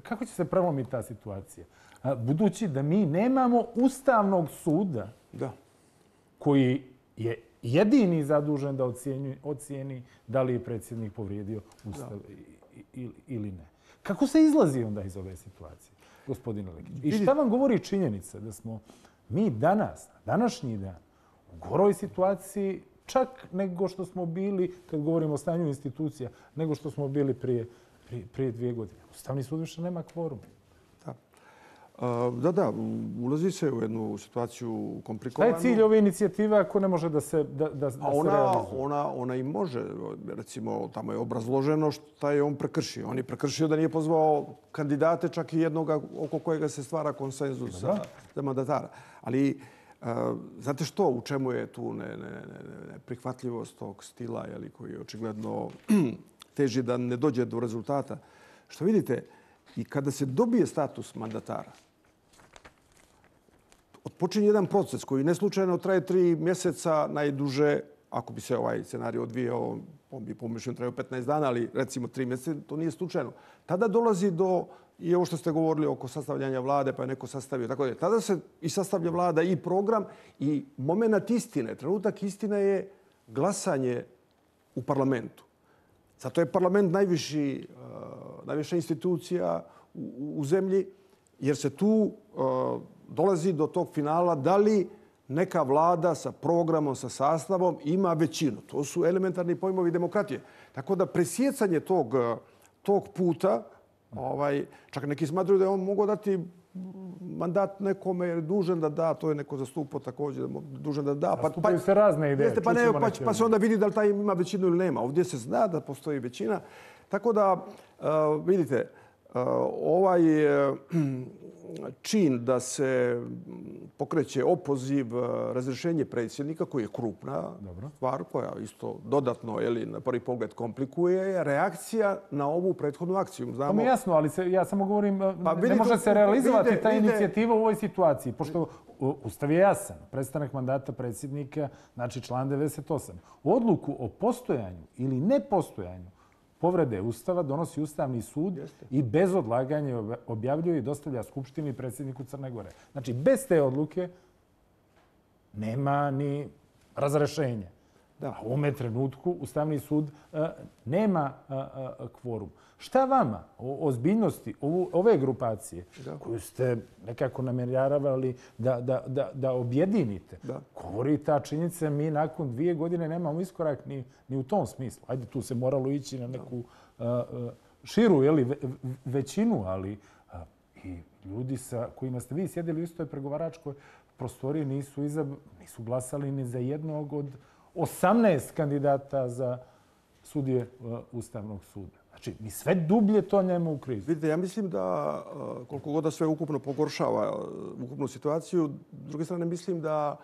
Speaker 1: Kako će se prelomiti ta situacija? A, budući da mi nemamo Ustavnog suda
Speaker 2: da.
Speaker 1: koji je jedini zadužen da ocijeni, ocijeni da li je predsjednik povrijedio Ustav ili, ili ne. Kako se izlazi onda iz ove situacije, gospodine Lekić? I šta vam govori činjenica da smo mi danas, današnji dan, u goroj situaciji čak nego što smo bili, kad govorimo o stanju institucija, nego što smo bili prije, prije, prije dvije godine. Ustavni sud više nema kvorum.
Speaker 2: Da. Da, da, ulazi se u jednu situaciju komplikovanu.
Speaker 1: Šta je cilj ove inicijative ako ne može da se, da, da, da
Speaker 2: ona,
Speaker 1: se realizuje?
Speaker 2: Ona, ona i može. Recimo, tamo je obrazloženo šta je on prekršio. On je prekršio da nije pozvao kandidate, čak i jednoga oko kojega se stvara konsenzus za, za mandatara. Ali, uh, znate što, u čemu je tu ne, ne, ne, ne, prihvatljivost tog stila, jeli, koji je očigledno teži da ne dođe do rezultata? Što vidite, i kada se dobije status mandatara, odpočinje jedan proces koji neslučajno traje tri mjeseca najduže, ako bi se ovaj scenarij odvijao, on bi pomišljeno trajao petnaest dana, ali recimo tri mjeseca, to nije slučajno. Tada dolazi do, i ovo što ste govorili oko sastavljanja vlade, pa je neko sastavio, tako da je. Tada se i sastavlja vlada i program i moment istine. Trenutak istine je glasanje u parlamentu. Zato je parlament najviši, uh, najviša institucija u, u zemlji, jer se tu uh, dolazi do tog finala da li neka vlada sa programom, sa sastavom ima većinu. To su elementarni pojmovi demokratije. Tako da presjecanje tog, tog puta, ovaj, čak neki smatruju da je on mogao dati mandat nekome jer je dužan da da, to je neko zastupao također, dužan da da.
Speaker 1: Pa, Zastupaju se razne ideje.
Speaker 2: Jeste, pa, ne, pa, pa se onda vidi da li taj ima većinu ili nema. Ovdje se zna da postoji većina. Tako da, uh, vidite, uh, ovaj uh, čin da se pokreće opoziv, razrješenje predsjednika, koji je krupna Dobro. stvar, koja isto dodatno ili na prvi pogled komplikuje, je reakcija na ovu prethodnu akciju.
Speaker 1: Znamo... To mi je jasno, ali se, ja samo govorim, pa, ne može to, se realizovati vidite, ta vidite, inicijativa u ovoj situaciji, pošto Ustav je jasan. Prestanak mandata predsjednika, znači član devedeset osam. Odluku o postojanju ili nepostojanju povrede Ustava donosi Ustavni sud Jeste. i bez odlaganja objavljuje i dostavlja Skupštini i predsjedniku Crne Gore. Znači, bez te odluke nema ni razrešenja.
Speaker 2: Da.
Speaker 1: A u ovome trenutku Ustavni sud a, nema a, a, kvorum. Šta vama o ozbiljnosti ovu, ove grupacije da. koju ste nekako namjeravali da, da, da, da objedinite, da. govori ta činjenica, mi nakon dvije godine nemamo iskorak ni, ni u tom smislu. Ajde, tu se moralo ići na neku a, a, širu jeli, ve, većinu, ali a, i ljudi sa kojima ste vi sjedili u istoj pregovaračkoj prostoriji nisu, izab, nisu glasali ni za jednog od osamnaest kandidata za sudije Ustavnog suda. Znači, mi sve dublje to njemu u krizu.
Speaker 2: Vidite, ja mislim da koliko god da sve ukupno pogoršava ukupnu situaciju, s druge strane mislim da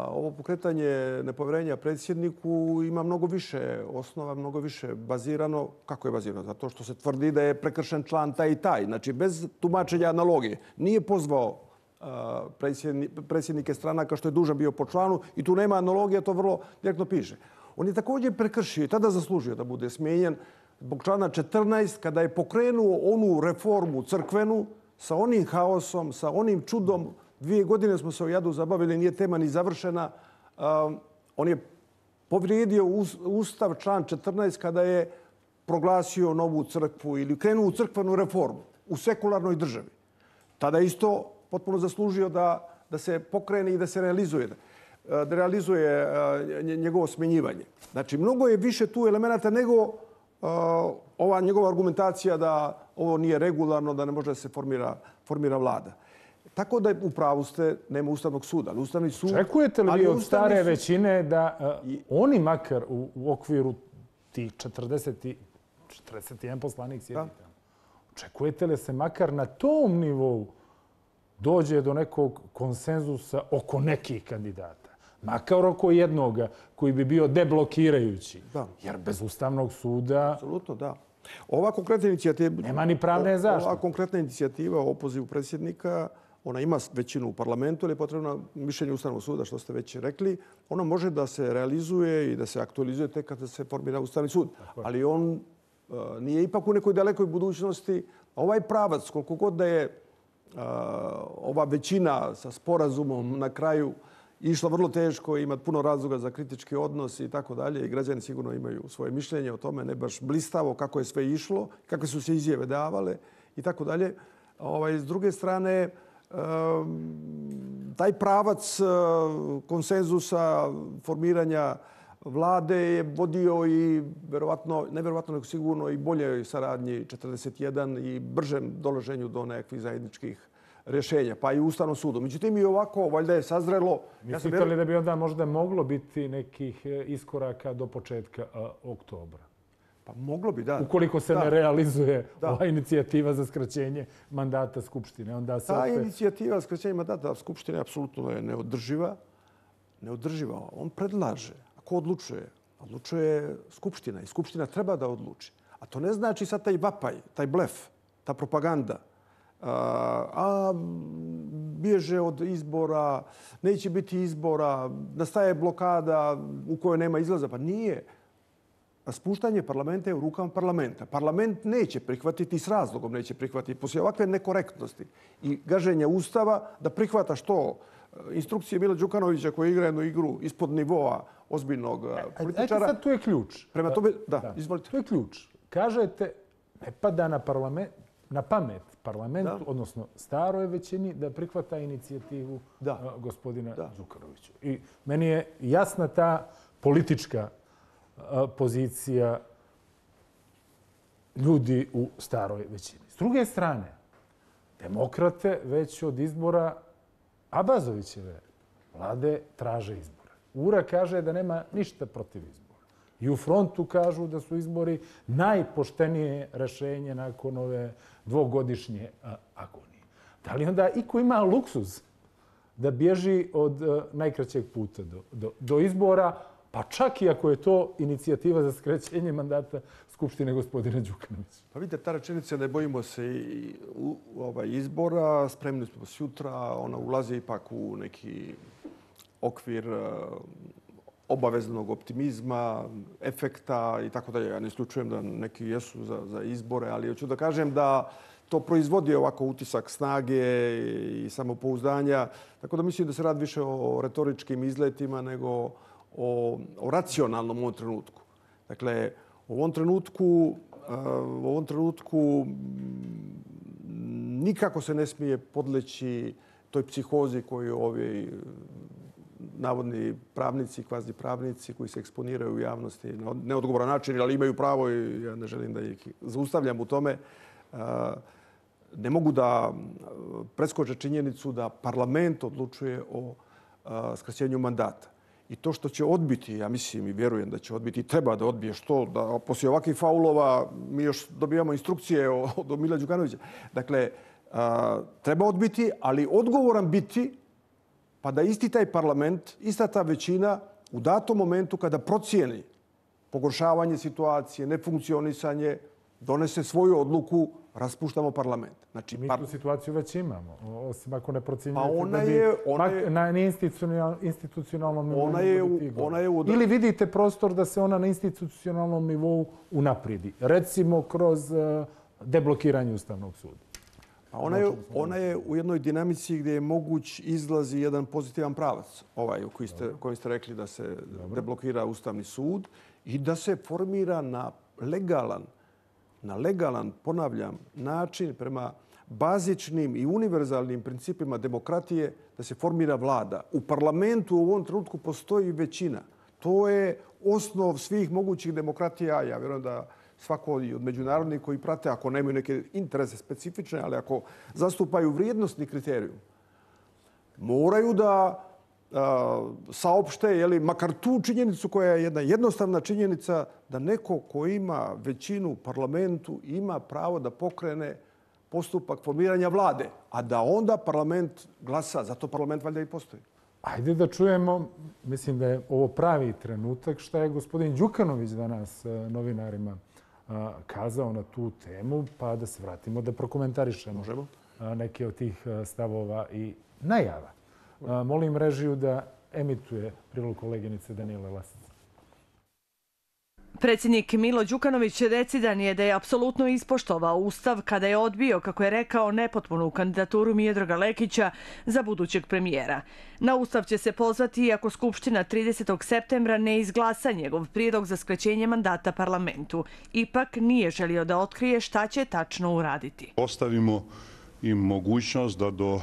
Speaker 2: ovo pokretanje nepovjerenja predsjedniku ima mnogo više osnova, mnogo više bazirano. Kako je bazirano? Zato što se tvrdi da je prekršen član taj i taj. Znači, bez tumačenja analogije. Nije pozvao predsjednike stranaka što je dužan bio po članu i tu nema analogija, to vrlo direktno piše. On je također prekršio i tada zaslužio da bude smijenjen zbog člana četrnaest kada je pokrenuo onu reformu crkvenu sa onim haosom, sa onim čudom. Dvije godine smo se o jadu zabavili, nije tema ni završena. Um, on je povrijedio Ustav član četrnaest kada je proglasio novu crkvu ili krenuo u crkvenu reformu u sekularnoj državi. Tada isto potpuno zaslužio da, da se pokrene i da se realizuje, da realizuje njegovo smjenjivanje. Znači, mnogo je više tu elemenata nego uh, ova njegova argumentacija da ovo nije regularno, da ne može da se formira, formira vlada. Tako da u pravu ste, nema Ustavnog suda. Ali Ustavni sud...
Speaker 1: Očekujete li vi od stare sud... većine da uh, I... oni makar u, u okviru tih četrdeset, četrdeset jedan poslanik sjedi tamo? Očekujete li se makar na tom nivou dođe do nekog konsenzusa oko nekih kandidata? Makar oko jednoga koji bi bio deblokirajući. Da. Jer bez Ustavnog suda...
Speaker 2: Apsolutno, da. Ova konkretna inicijativa...
Speaker 1: Nema ni pravne zaštite.
Speaker 2: Ova konkretna inicijativa o opozivu predsjednika, ona ima većinu u parlamentu, ali je potrebno mišljenje Ustavnog suda, što ste već rekli. Ona može da se realizuje i da se aktualizuje tek kada se formira Ustavni sud. Tako. Ali on uh, nije ipak u nekoj dalekoj budućnosti. Ovaj pravac, koliko god da je uh, ova većina sa sporazumom na kraju išla vrlo teško, ima puno razloga za kritički odnos i tako dalje. I građani sigurno imaju svoje mišljenje o tome, ne baš blistavo kako je sve išlo, kakve su se izjave davale i tako dalje. Ovaj, s druge strane, taj pravac konsenzusa formiranja vlade je vodio i verovatno, ne verovatno nego sigurno i boljoj saradnji četrdeset jedan i bržem dolaženju do nekakvih zajedničkih rješenja, pa i Ustavnom sudu. Međutim, i ovako, valjda je sazrelo...
Speaker 1: Mislite ja li da bi onda možda moglo biti nekih iskoraka do početka a, oktobra?
Speaker 2: Pa moglo bi, da.
Speaker 1: Ukoliko se da. ne realizuje da. ova inicijativa za skraćenje mandata Skupštine, onda se...
Speaker 2: Ta
Speaker 1: opet...
Speaker 2: inicijativa za skraćenje mandata Skupštine apsolutno je neodrživa. Neodrživa. On predlaže. A ko odlučuje? Odlučuje Skupština i Skupština treba da odluči. A to ne znači sad taj vapaj, taj blef, ta propaganda. A, a bježe od izbora, neće biti izbora, nastaje blokada u kojoj nema izlaza. Pa nije. Spuštanje parlamenta je u rukama parlamenta. Parlament neće prihvatiti, s razlogom neće prihvatiti, poslije ovakve nekorektnosti i gaženja Ustava, da prihvata što instrukcije Mila Đukanovića koji igra jednu igru ispod nivoa ozbiljnog političara.
Speaker 1: Ajde sad, tu je ključ.
Speaker 2: Prema tome, da, da, izvolite.
Speaker 1: Tu je ključ. Kažete, ne pada na, parlament, na pamet parlamentu, da. odnosno staroj većini, da prihvata inicijativu da. gospodina da. Đukanovića. I meni je jasna ta politička pozicija ljudi u staroj većini. S druge strane, demokrate već od izbora Abazovićeve vlade traže izbore. Ura kaže da nema ništa protiv izbora. I u frontu kažu da su izbori najpoštenije rešenje nakon ove dvogodišnje agonije. Da li onda iko ima luksuz da bježi od najkraćeg puta do, do, do izbora, pa čak i ako je to inicijativa za skraćenje mandata Skupštine gospodina Đukanovića?
Speaker 2: Pa vidite, ta rečenica, ne bojimo se i u, u ovaj izbora, spremni smo sutra, ona ulazi ipak u neki okvir uh, obaveznog optimizma, efekta i tako dalje. Ja ne isključujem da neki jesu za, za izbore, ali hoću da kažem da to proizvodi ovako utisak snage i samopouzdanja. Tako da mislim da se radi više o retoričkim izletima nego o, o racionalnom u ovom trenutku. Dakle, u ovom trenutku, u ovom trenutku nikako se ne smije podleći toj psihozi koju ovi navodni pravnici, kvazi pravnici koji se eksponiraju u javnosti na neodgovoran način, ali imaju pravo i ja ne želim da ih zaustavljam u tome, ne mogu da preskoče činjenicu da parlament odlučuje o skraćenju mandata. I to što će odbiti, ja mislim i vjerujem da će odbiti, treba da odbije što, da poslije ovakvih faulova mi još dobijamo instrukcije od Mila Đukanovića. Dakle, treba odbiti, ali odgovoran biti pa da isti taj parlament, ista ta većina u datom momentu kada procijeni pogoršavanje situacije, nefunkcionisanje, donese svoju odluku, raspuštamo parlament.
Speaker 1: Znači, mi tu situaciju već imamo, osim ako ne procjenjujete
Speaker 2: pa ona
Speaker 1: da bi
Speaker 2: je, ona je,
Speaker 1: na institucionalnom nivou
Speaker 2: ona je, ona je u...
Speaker 1: Ili vidite prostor da se ona na institucionalnom nivou unaprijedi. Recimo kroz deblokiranje Ustavnog suda.
Speaker 2: Pa ona, je, ona je u jednoj dinamici gdje je moguć izlazi jedan pozitivan pravac, ovaj u koji ste, koji ste rekli da se Dobro. deblokira Ustavni sud i da se formira na legalan, na legalan, ponavljam, način prema bazičnim i univerzalnim principima demokratije da se formira vlada. U parlamentu u ovom trenutku postoji većina. To je osnov svih mogućih demokratija. Ja vjerujem da svako od međunarodnih koji prate, ako nemaju neke interese specifične, ali ako zastupaju vrijednostni kriterijum, moraju da a, saopšte, jeli, makar tu činjenicu koja je jedna jednostavna činjenica da neko ko ima većinu u parlamentu ima pravo da pokrene postupak formiranja vlade, a da onda parlament glasa. Zato parlament valjda i postoji.
Speaker 1: Ajde da čujemo, mislim da je ovo pravi trenutak, šta je gospodin Đukanović danas novinarima kazao na tu temu, pa da se vratimo da prokomentarišemo
Speaker 2: Možemo.
Speaker 1: neke od tih stavova i najava. Molim režiju da emituje prilog koleginice Danijele Lasice.
Speaker 3: Predsjednik Milo Đukanović decidan je da je apsolutno ispoštovao Ustav kada je odbio, kako je rekao, nepotpunu kandidaturu Miodraga Lekića za budućeg premijera. Na Ustav će se pozvati iako Skupština tridesetog septembra ne izglasa njegov prijedlog za skraćenje mandata parlamentu. Ipak nije želio da otkrije šta će tačno uraditi.
Speaker 4: Ostavimo im mogućnost da do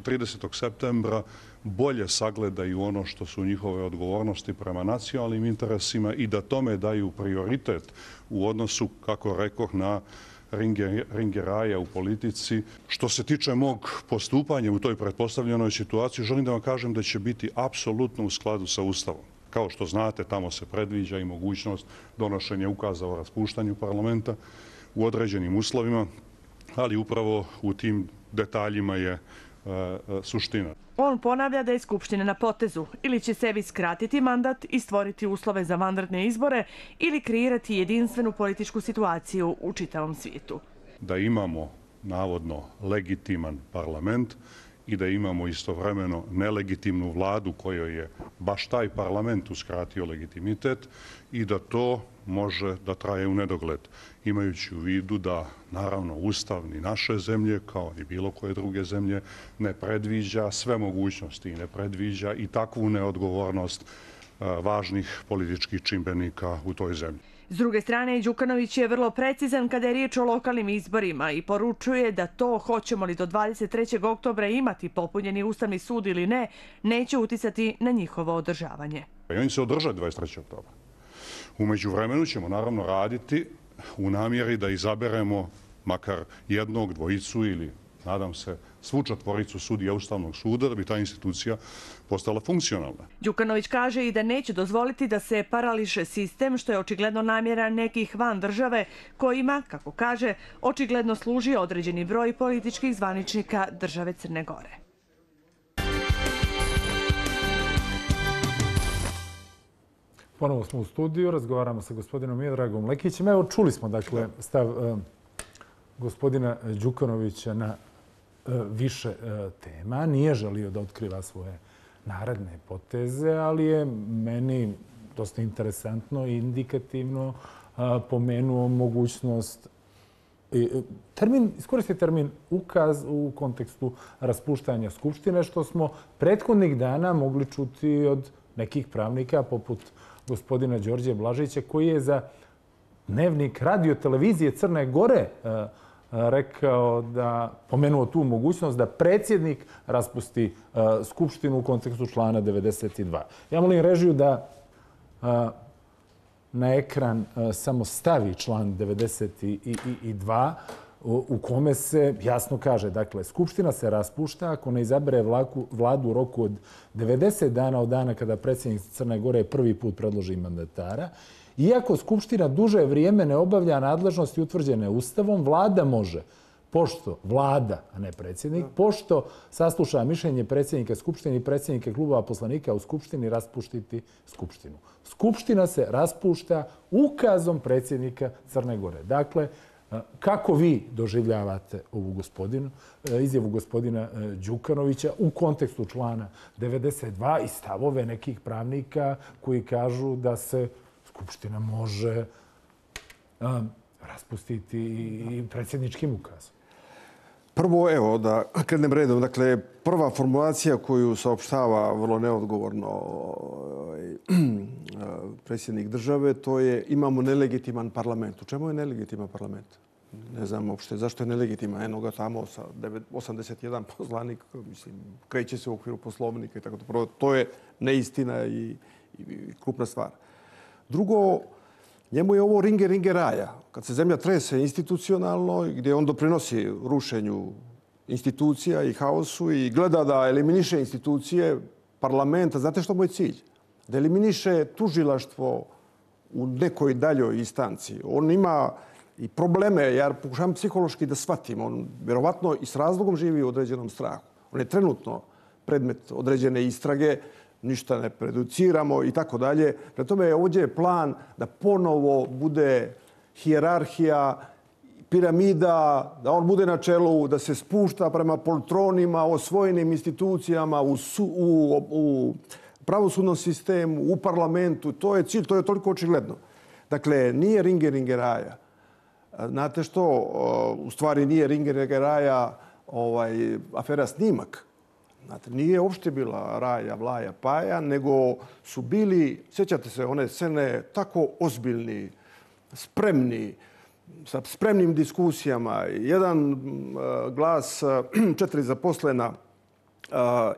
Speaker 4: tridesetog septembra bolje sagledaju ono što su njihove odgovornosti prema nacionalnim interesima i da tome daju prioritet u odnosu, kako rekoh, na ringeraja u politici. Što se tiče mog postupanja u toj pretpostavljenoj situaciji, želim da vam kažem da će biti apsolutno u skladu sa Ustavom. Kao što znate, tamo se predviđa i mogućnost donošenja ukaza o raspuštanju parlamenta u određenim uslovima, ali upravo u tim detaljima je suština.
Speaker 3: On ponavlja da je Skupština na potezu. Ili će sebi skratiti mandat i stvoriti uslove za vanredne izbore ili kreirati jedinstvenu političku situaciju u čitavom svijetu.
Speaker 4: Da imamo navodno legitiman parlament i da imamo istovremeno nelegitimnu vladu kojoj je baš taj parlament uskratio legitimitet i da to može da traje u nedogled. Imajući u vidu da, naravno, Ustav ni naše zemlje, kao ni bilo koje druge zemlje, ne predviđa sve mogućnosti i ne predviđa i takvu neodgovornost važnih političkih čimbenika u toj zemlji.
Speaker 3: S druge strane, Đukanović je vrlo precizan kada je riječ o lokalnim izborima i poručuje da to hoćemo li do dvadeset trećeg oktobra imati popunjeni Ustavni sud ili ne, neće uticati na njihovo održavanje.
Speaker 4: I oni se održaju dvadeset trećeg oktobra. U međuvremenu ćemo naravno raditi u namjeri da izaberemo makar jednog, dvojicu ili, nadam se, svu četvoricu sudija Ustavnog suda da bi ta institucija postala funkcionalna.
Speaker 3: Đukanović kaže i da neće dozvoliti da se parališe sistem, što je očigledno namjera nekih van države kojima, kako kaže, očigledno služi određeni broj političkih zvaničnika države Crne Gore.
Speaker 1: Ponovo smo u studiju, razgovaramo sa gospodinom Miodragom Lekićem. Evo, čuli smo, dakle, stav uh, gospodina Đukanovića na uh, više uh, tema. Nije želio da otkriva svoje naredne poteze, ali je meni dosta interesantno i indikativno uh, pomenuo mogućnost termin, iskoristiti termin ukaz u kontekstu raspuštanja Skupštine, što smo prethodnih dana mogli čuti od nekih pravnika, poput gospodina Đorđe Blažića, koji je za Dnevnik radio televizije Crne Gore rekao da, pomenuo tu mogućnost da predsjednik raspusti Skupštinu u kontekstu člana devedeset dva. Ja molim režiju da na ekran samo stavi član devedeset dva u kome se jasno kaže, dakle, Skupština se raspušta ako ne izabere vladu u roku od devedeset dana od dana kada predsjednik Crne Gore prvi put predloži mandatara. Iako Skupština duže vrijeme ne obavlja nadležnosti utvrđene Ustavom, vlada može, pošto vlada, a ne predsjednik, pošto sasluša mišljenje predsjednika Skupštine i predsjednika klubova poslanika u Skupštini, raspuštiti Skupštinu. Skupština se raspušta ukazom predsjednika Crne Gore. Dakle, kako vi doživljavate ovu gospodinu, izjavu gospodina Đukanovića u kontekstu člana devedeset dva i stavove nekih pravnika koji kažu da se Skupština može um, raspustiti i predsjedničkim ukazom?
Speaker 2: Prvo, evo, da krenem redom. Dakle, prva formulacija koju saopštava vrlo neodgovorno predsjednik države, to je imamo nelegitiman parlament. U čemu je nelegitiman parlament? Ne znam uopšte zašto je nelegitiman. Eno ga tamo sa osamdeset jedan poslanik, mislim, kreće se u okviru poslovnika i tako to. Prvo, to je neistina i, i krupna stvar. Drugo, njemu je ovo ringe ringe raja. Kad se zemlja trese institucionalno, gdje on doprinosi rušenju institucija i haosu i gleda da eliminiše institucije parlamenta, znate što mu je cilj? Da eliminiše tužilaštvo u nekoj daljoj instanci. On ima i probleme, ja pokušavam psihološki da shvatim. On vjerovatno i s razlogom živi u određenom strahu. On je trenutno predmet određene istrage, ništa ne produciramo i tako dalje. Pre tome ovdje je plan da ponovo bude hijerarhija, piramida, da on bude na čelu, da se spušta prema poltronima, osvojenim institucijama, u, su, u, u pravosudnom sistemu, u parlamentu. To je cilj, to je toliko očigledno. Dakle, nije ringe ringe raja. Znate što? U stvari nije ringe ringe raja ovaj, afera Snimak. Znate, nije uopšte bila raja, vlaja, paja, nego su bili, sjećate se, one scene tako ozbiljni, spremni, sa spremnim diskusijama, jedan glas, četiri zaposlena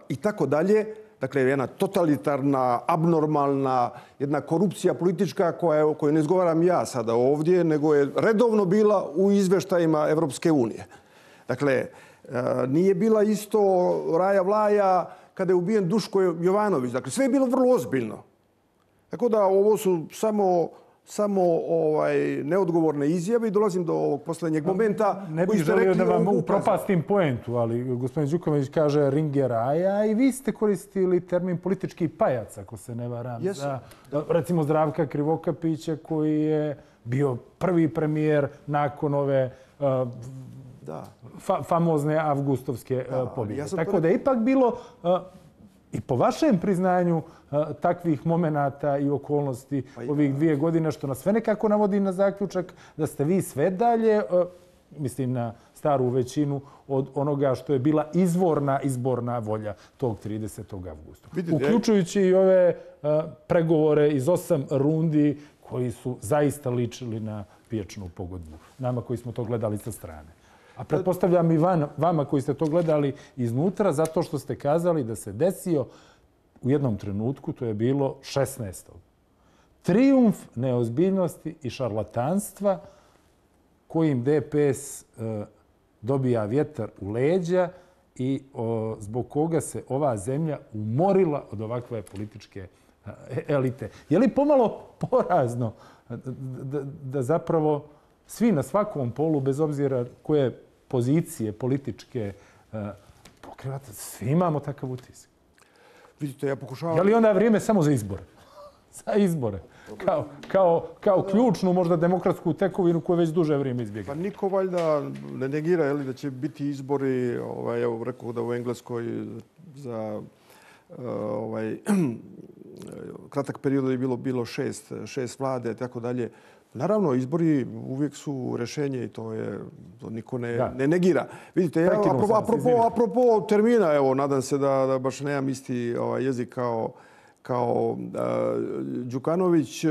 Speaker 2: i tako dalje. Dakle, jedna totalitarna, abnormalna, jedna korupcija politička koja, koju ne izgovaram ja sada ovdje, nego je redovno bila u izveštajima Evropske unije. Dakle, nije bila isto raja vlaja kada je ubijen Duško Jovanović. Dakle, sve je bilo vrlo ozbiljno. Tako da ovo su samo, samo ovaj, neodgovorne izjave i dolazim do ovog posljednjeg momenta.
Speaker 1: Ne bih želio da vam upropastim poentu, ali gospodin Đukanović kaže ringe raja i vi ste koristili termin politički pajac, ako se ne varam.
Speaker 2: Jesu.
Speaker 1: Za, recimo Zdravka Krivokapića koji je bio prvi premijer nakon ove uh, Da. Fa, famozne avgustovske da, pobjede. Ja Tako da je ipak bilo, uh, i po vašem priznanju, uh, takvih momenata i okolnosti pa ovih dvije godine, što nas sve nekako navodi na zaključak da ste vi sve dalje, uh, mislim na staru većinu, od onoga što je bila izvorna izborna volja tog tridesetog avgusta. Vidite, uključujući i ove uh, pregovore iz osam rundi koji su zaista ličili na pijačnu pogodbu. Nama koji smo to gledali sa strane. A pretpostavljam i van, vama koji ste to gledali iznutra, zato što ste kazali da se desio u jednom trenutku, to je bilo šesnaestog trijumf neozbiljnosti i šarlatanstva kojim D P S e, dobija vjetar u leđa i o, zbog koga se ova zemlja umorila od ovakve političke elite. Je li pomalo porazno da, da, da zapravo svi na svakom polu, bez obzira koje pozicije političke uh, pokrivate, svi imamo takav utisak?
Speaker 2: Vidite, ja pokušavam...
Speaker 1: Je li onda vrijeme samo za izbore? Za izbore. Kao, kao, kao ključnu, možda demokratsku tekovinu koju već duže vrijeme izbjega.
Speaker 2: Pa niko valjda ne negira je li, da će biti izbori, ovaj, evo rekao da u Engleskoj za ovaj, kratak period je bilo, bilo šest, šest vlade, tako dalje. Naravno, izbori uvijek su rješenje i to je, to niko ne, ne negira. Vidite, ja, apropo, apropo, apropo termina, evo, nadam se da, da baš nemam isti ovaj, jezik kao, kao uh, Đukanović.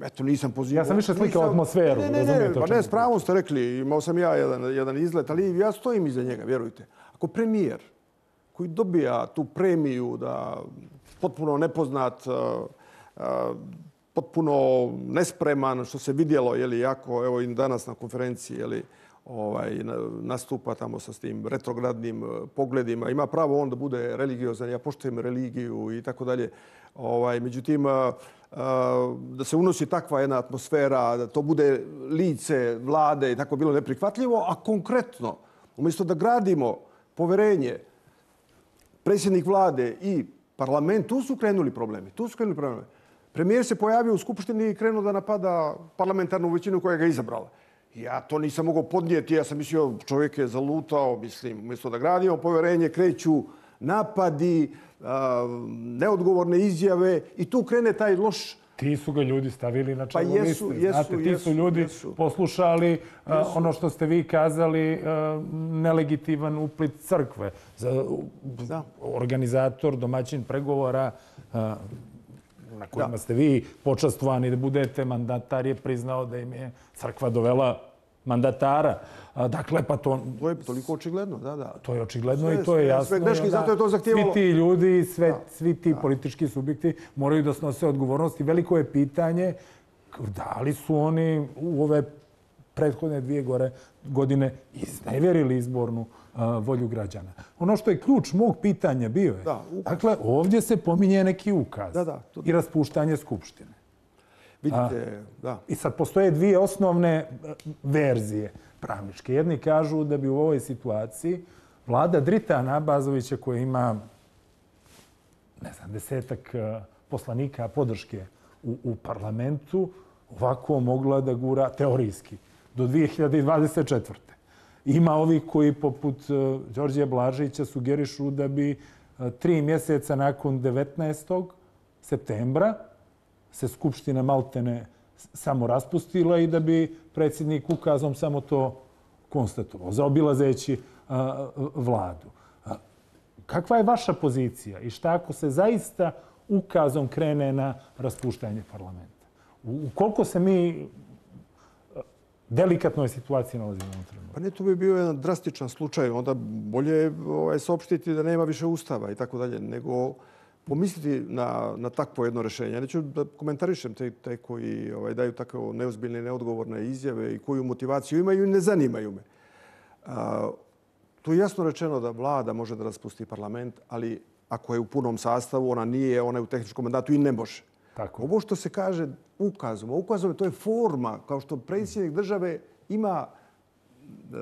Speaker 2: Eto, nisam pozivao.
Speaker 1: Ja sam više slikao atmosferu.
Speaker 2: Ne, ne, ne, ne, pa ne, s pravom ste rekli, imao sam ja jedan, jedan izlet, ali ja stojim iza njega, vjerujte. Ako premijer koji dobija tu premiju da potpuno nepoznat, uh, uh, potpuno nespreman, što se vidjelo, je li, jako, evo i danas na konferenciji, je li, ovaj, nastupa tamo sa tim retrogradnim pogledima. Ima pravo on da bude religiozan, ja poštujem religiju i tako dalje. Ovaj, međutim, da se unosi takva jedna atmosfera, da to bude lice vlade i tako bilo neprihvatljivo, a konkretno, umjesto da gradimo poverenje, predsjednik vlade i parlament, tu su krenuli problemi. Tu su krenuli problemi. Premijer se pojavio u Skupštini i krenuo da napada parlamentarnu većinu koja ga je izabrala. Ja to nisam mogao podnijeti. Ja sam mislio, čovjek je zalutao, mislim, umjesto da gradimo povjerenje, kreću napadi, neodgovorne izjave i tu krene taj loš...
Speaker 1: Ti su ga ljudi stavili na čelo
Speaker 2: pa jesu,
Speaker 1: liste.
Speaker 2: Jesu,
Speaker 1: Znate, ti
Speaker 2: jesu,
Speaker 1: su ljudi
Speaker 2: jesu.
Speaker 1: poslušali
Speaker 2: jesu.
Speaker 1: ono što ste vi kazali, nelegitiman uplit crkve. Da. Organizator, domaćin pregovora na kojima da. ste vi počastvovani da budete, mandatar je priznao da im je crkva dovela mandatara. Dakle, pa to...
Speaker 2: To je toliko očigledno, da, da.
Speaker 1: To je očigledno sve, i to
Speaker 2: sve,
Speaker 1: je jasno.
Speaker 2: Sve greški, zato je to zahtijevalo...
Speaker 1: Svi ti ljudi, sve, svi ti da. politički subjekti moraju da snose odgovornosti. Veliko je pitanje da li su oni u ove prethodne dvije gore godine iznevjerili izbornu uh, volju građana. Ono što je ključ mog pitanja bio je, da, dakle, ovdje se pominje neki ukaz
Speaker 2: da, da, to...
Speaker 1: i raspuštanje Skupštine.
Speaker 2: Vidite, A, da.
Speaker 1: I sad postoje dvije osnovne verzije pravničke. Jedni kažu da bi u ovoj situaciji vlada Dritana Abazovića, koja ima, ne znam, desetak poslanika podrške u, u parlamentu, ovako mogla da gura teorijski do dvije hiljade dvadeset četvrte. Ima ovi koji poput uh, Đorđe Blažića sugerišu da bi uh, tri mjeseca nakon devetnaestog septembra se Skupština maltene samo raspustila i da bi predsjednik ukazom samo to konstatovao, zaobilazeći uh, vladu. Uh, kakva je vaša pozicija i šta ako se zaista ukazom krene na raspuštanje parlamenta? U koliko se mi delikatnoj situaciji nalazimo u trenutku?
Speaker 2: Pa ne, to bi bio jedan drastičan slučaj. Onda bolje ovaj, saopštiti da nema više ustava i tako dalje, nego pomisliti na, na takvo jedno rješenje. Ja neću da komentarišem te, te koji ovaj, daju tako neozbiljne i neodgovorne izjave i koju motivaciju imaju i ne zanimaju me. A, tu je jasno rečeno da vlada može da raspusti parlament, ali ako je u punom sastavu, ona nije, ona je u tehničkom mandatu i ne može.
Speaker 1: Tako.
Speaker 2: Ovo što se kaže ukazom, ukazom to je forma, kao što predsjednik države ima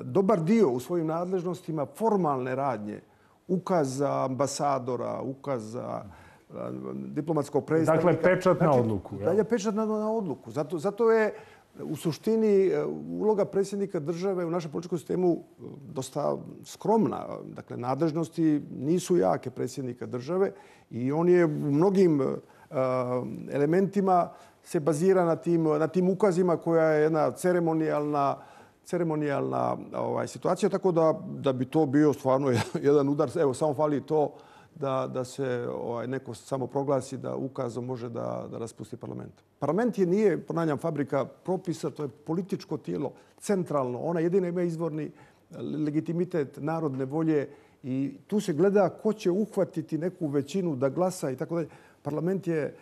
Speaker 2: dobar dio u svojim nadležnostima formalne radnje, ukaz za ambasadora, ukaz za diplomatskog predstavnika.
Speaker 1: Dakle, pečat na odluku.
Speaker 2: Znači, dalje pečat na, na odluku. Zato, zato je u suštini uloga predsjednika države u našem političkom sistemu dosta skromna. Dakle, nadležnosti nisu jake predsjednika države i on je u mnogim elementima se bazira na tim, na tim ukazima koja je jedna ceremonijalna, ceremonijalna ovaj, situacija, tako da, da bi to bio stvarno jedan udar. Evo, samo fali to da, da se ovaj, neko samo proglasi da ukazom može da, da raspusti parlament. Parlament je nije, ponavljam, fabrika propisa, to je političko tijelo, centralno. Ona jedina ima izvorni legitimitet narodne volje i tu se gleda ko će uhvatiti neku većinu da glasa i tako dalje. Parlament je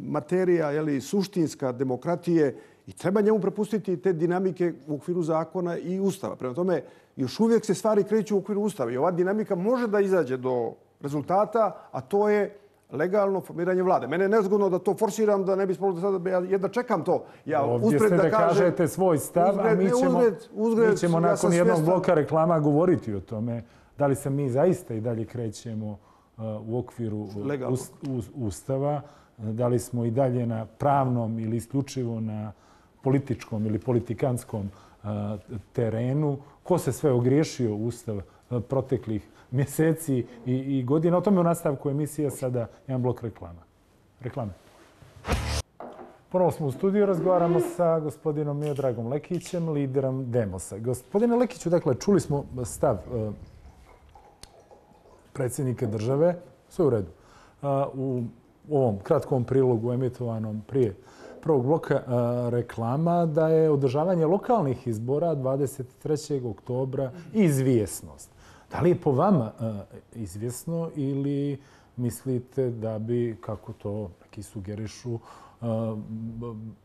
Speaker 2: materija, jeli, suštinska demokratije i treba njemu prepustiti te dinamike u okviru zakona i ustava. Prema tome, još uvijek se stvari kreću u okviru ustava i ova dinamika može da izađe do rezultata, a to je legalno formiranje vlade. Mene je nezgodno da to forsiram, da ne bi spolo da sada, ja jedno čekam to. Ja
Speaker 1: ovdje ste da, da kažete svoj stav, uzgred, a mi ćemo, uzgred, uzgred, mi ćemo nakon ja jednog svjestan. bloka reklama govoriti o tome da li se mi zaista i dalje krećemo uh, u okviru us, us, ustava, da li smo i dalje na pravnom ili isključivo na političkom ili politikanskom uh, terenu. Ko se sve ogriješio u ustav uh, proteklih mjeseci i, i godina. O tome u nastavku emisije sada jedan blok reklama. Reklame. Ponovo smo u studiju, razgovaramo sa gospodinom Miodragom Lekićem, liderom Demosa. Gospodine Lekiću, dakle, čuli smo stav uh, predsjednika države, sve u redu. Uh, u ovom kratkom prilogu emitovanom prije prvog bloka uh, reklama da je održavanje lokalnih izbora dvadeset trećeg oktobra izvjesnost. Da li je po vama uh, izvjesno ili mislite da bi, kako to neki sugerišu,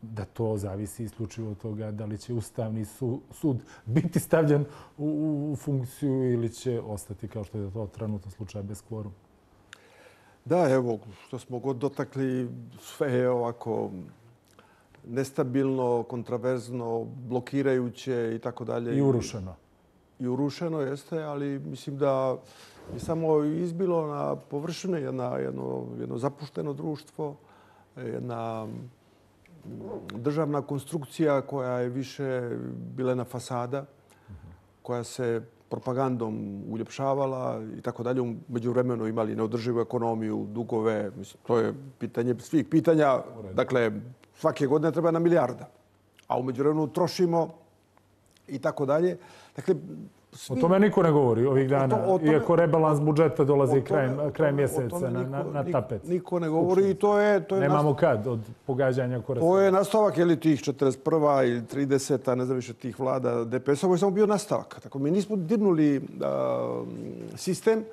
Speaker 1: da to zavisi isključivo od toga da li će Ustavni sud biti stavljen u funkciju ili će ostati kao što je to trenutno slučaj bez kvoruma?
Speaker 2: Da, evo, što smo god dotakli, sve je ovako nestabilno, kontraverzno, blokirajuće i tako dalje.
Speaker 1: I urušeno.
Speaker 2: I urušeno jeste, ali mislim da je samo izbilo na površine jedno, jedno, jedno zapušteno društvo, jedna državna konstrukcija koja je više bilena fasada, koja se propagandom uljepšavala i tako dalje. U međuvremenu imali neodrživu ekonomiju, dugove. Mislim, to je pitanje svih pitanja. Dakle, svake godine treba na milijarda. A u međuvremenu trošimo i tako dalje. Dakle,
Speaker 1: svi... O tome niko ne govori ovih dana, o to, o tome, iako rebalans budžeta dolazi krajem, krajem mjeseca na, na, na tapet.
Speaker 2: Niko ne govori i to je... To je
Speaker 1: Nemamo nastav... kad od pogađanja korisnika.
Speaker 2: To je nastavak, je li tih četrdeset prva ili trideseta, ne znam više tih vlada D P S. Ovo je samo bio nastavak. Tako, mi nismo dirnuli uh, sistem.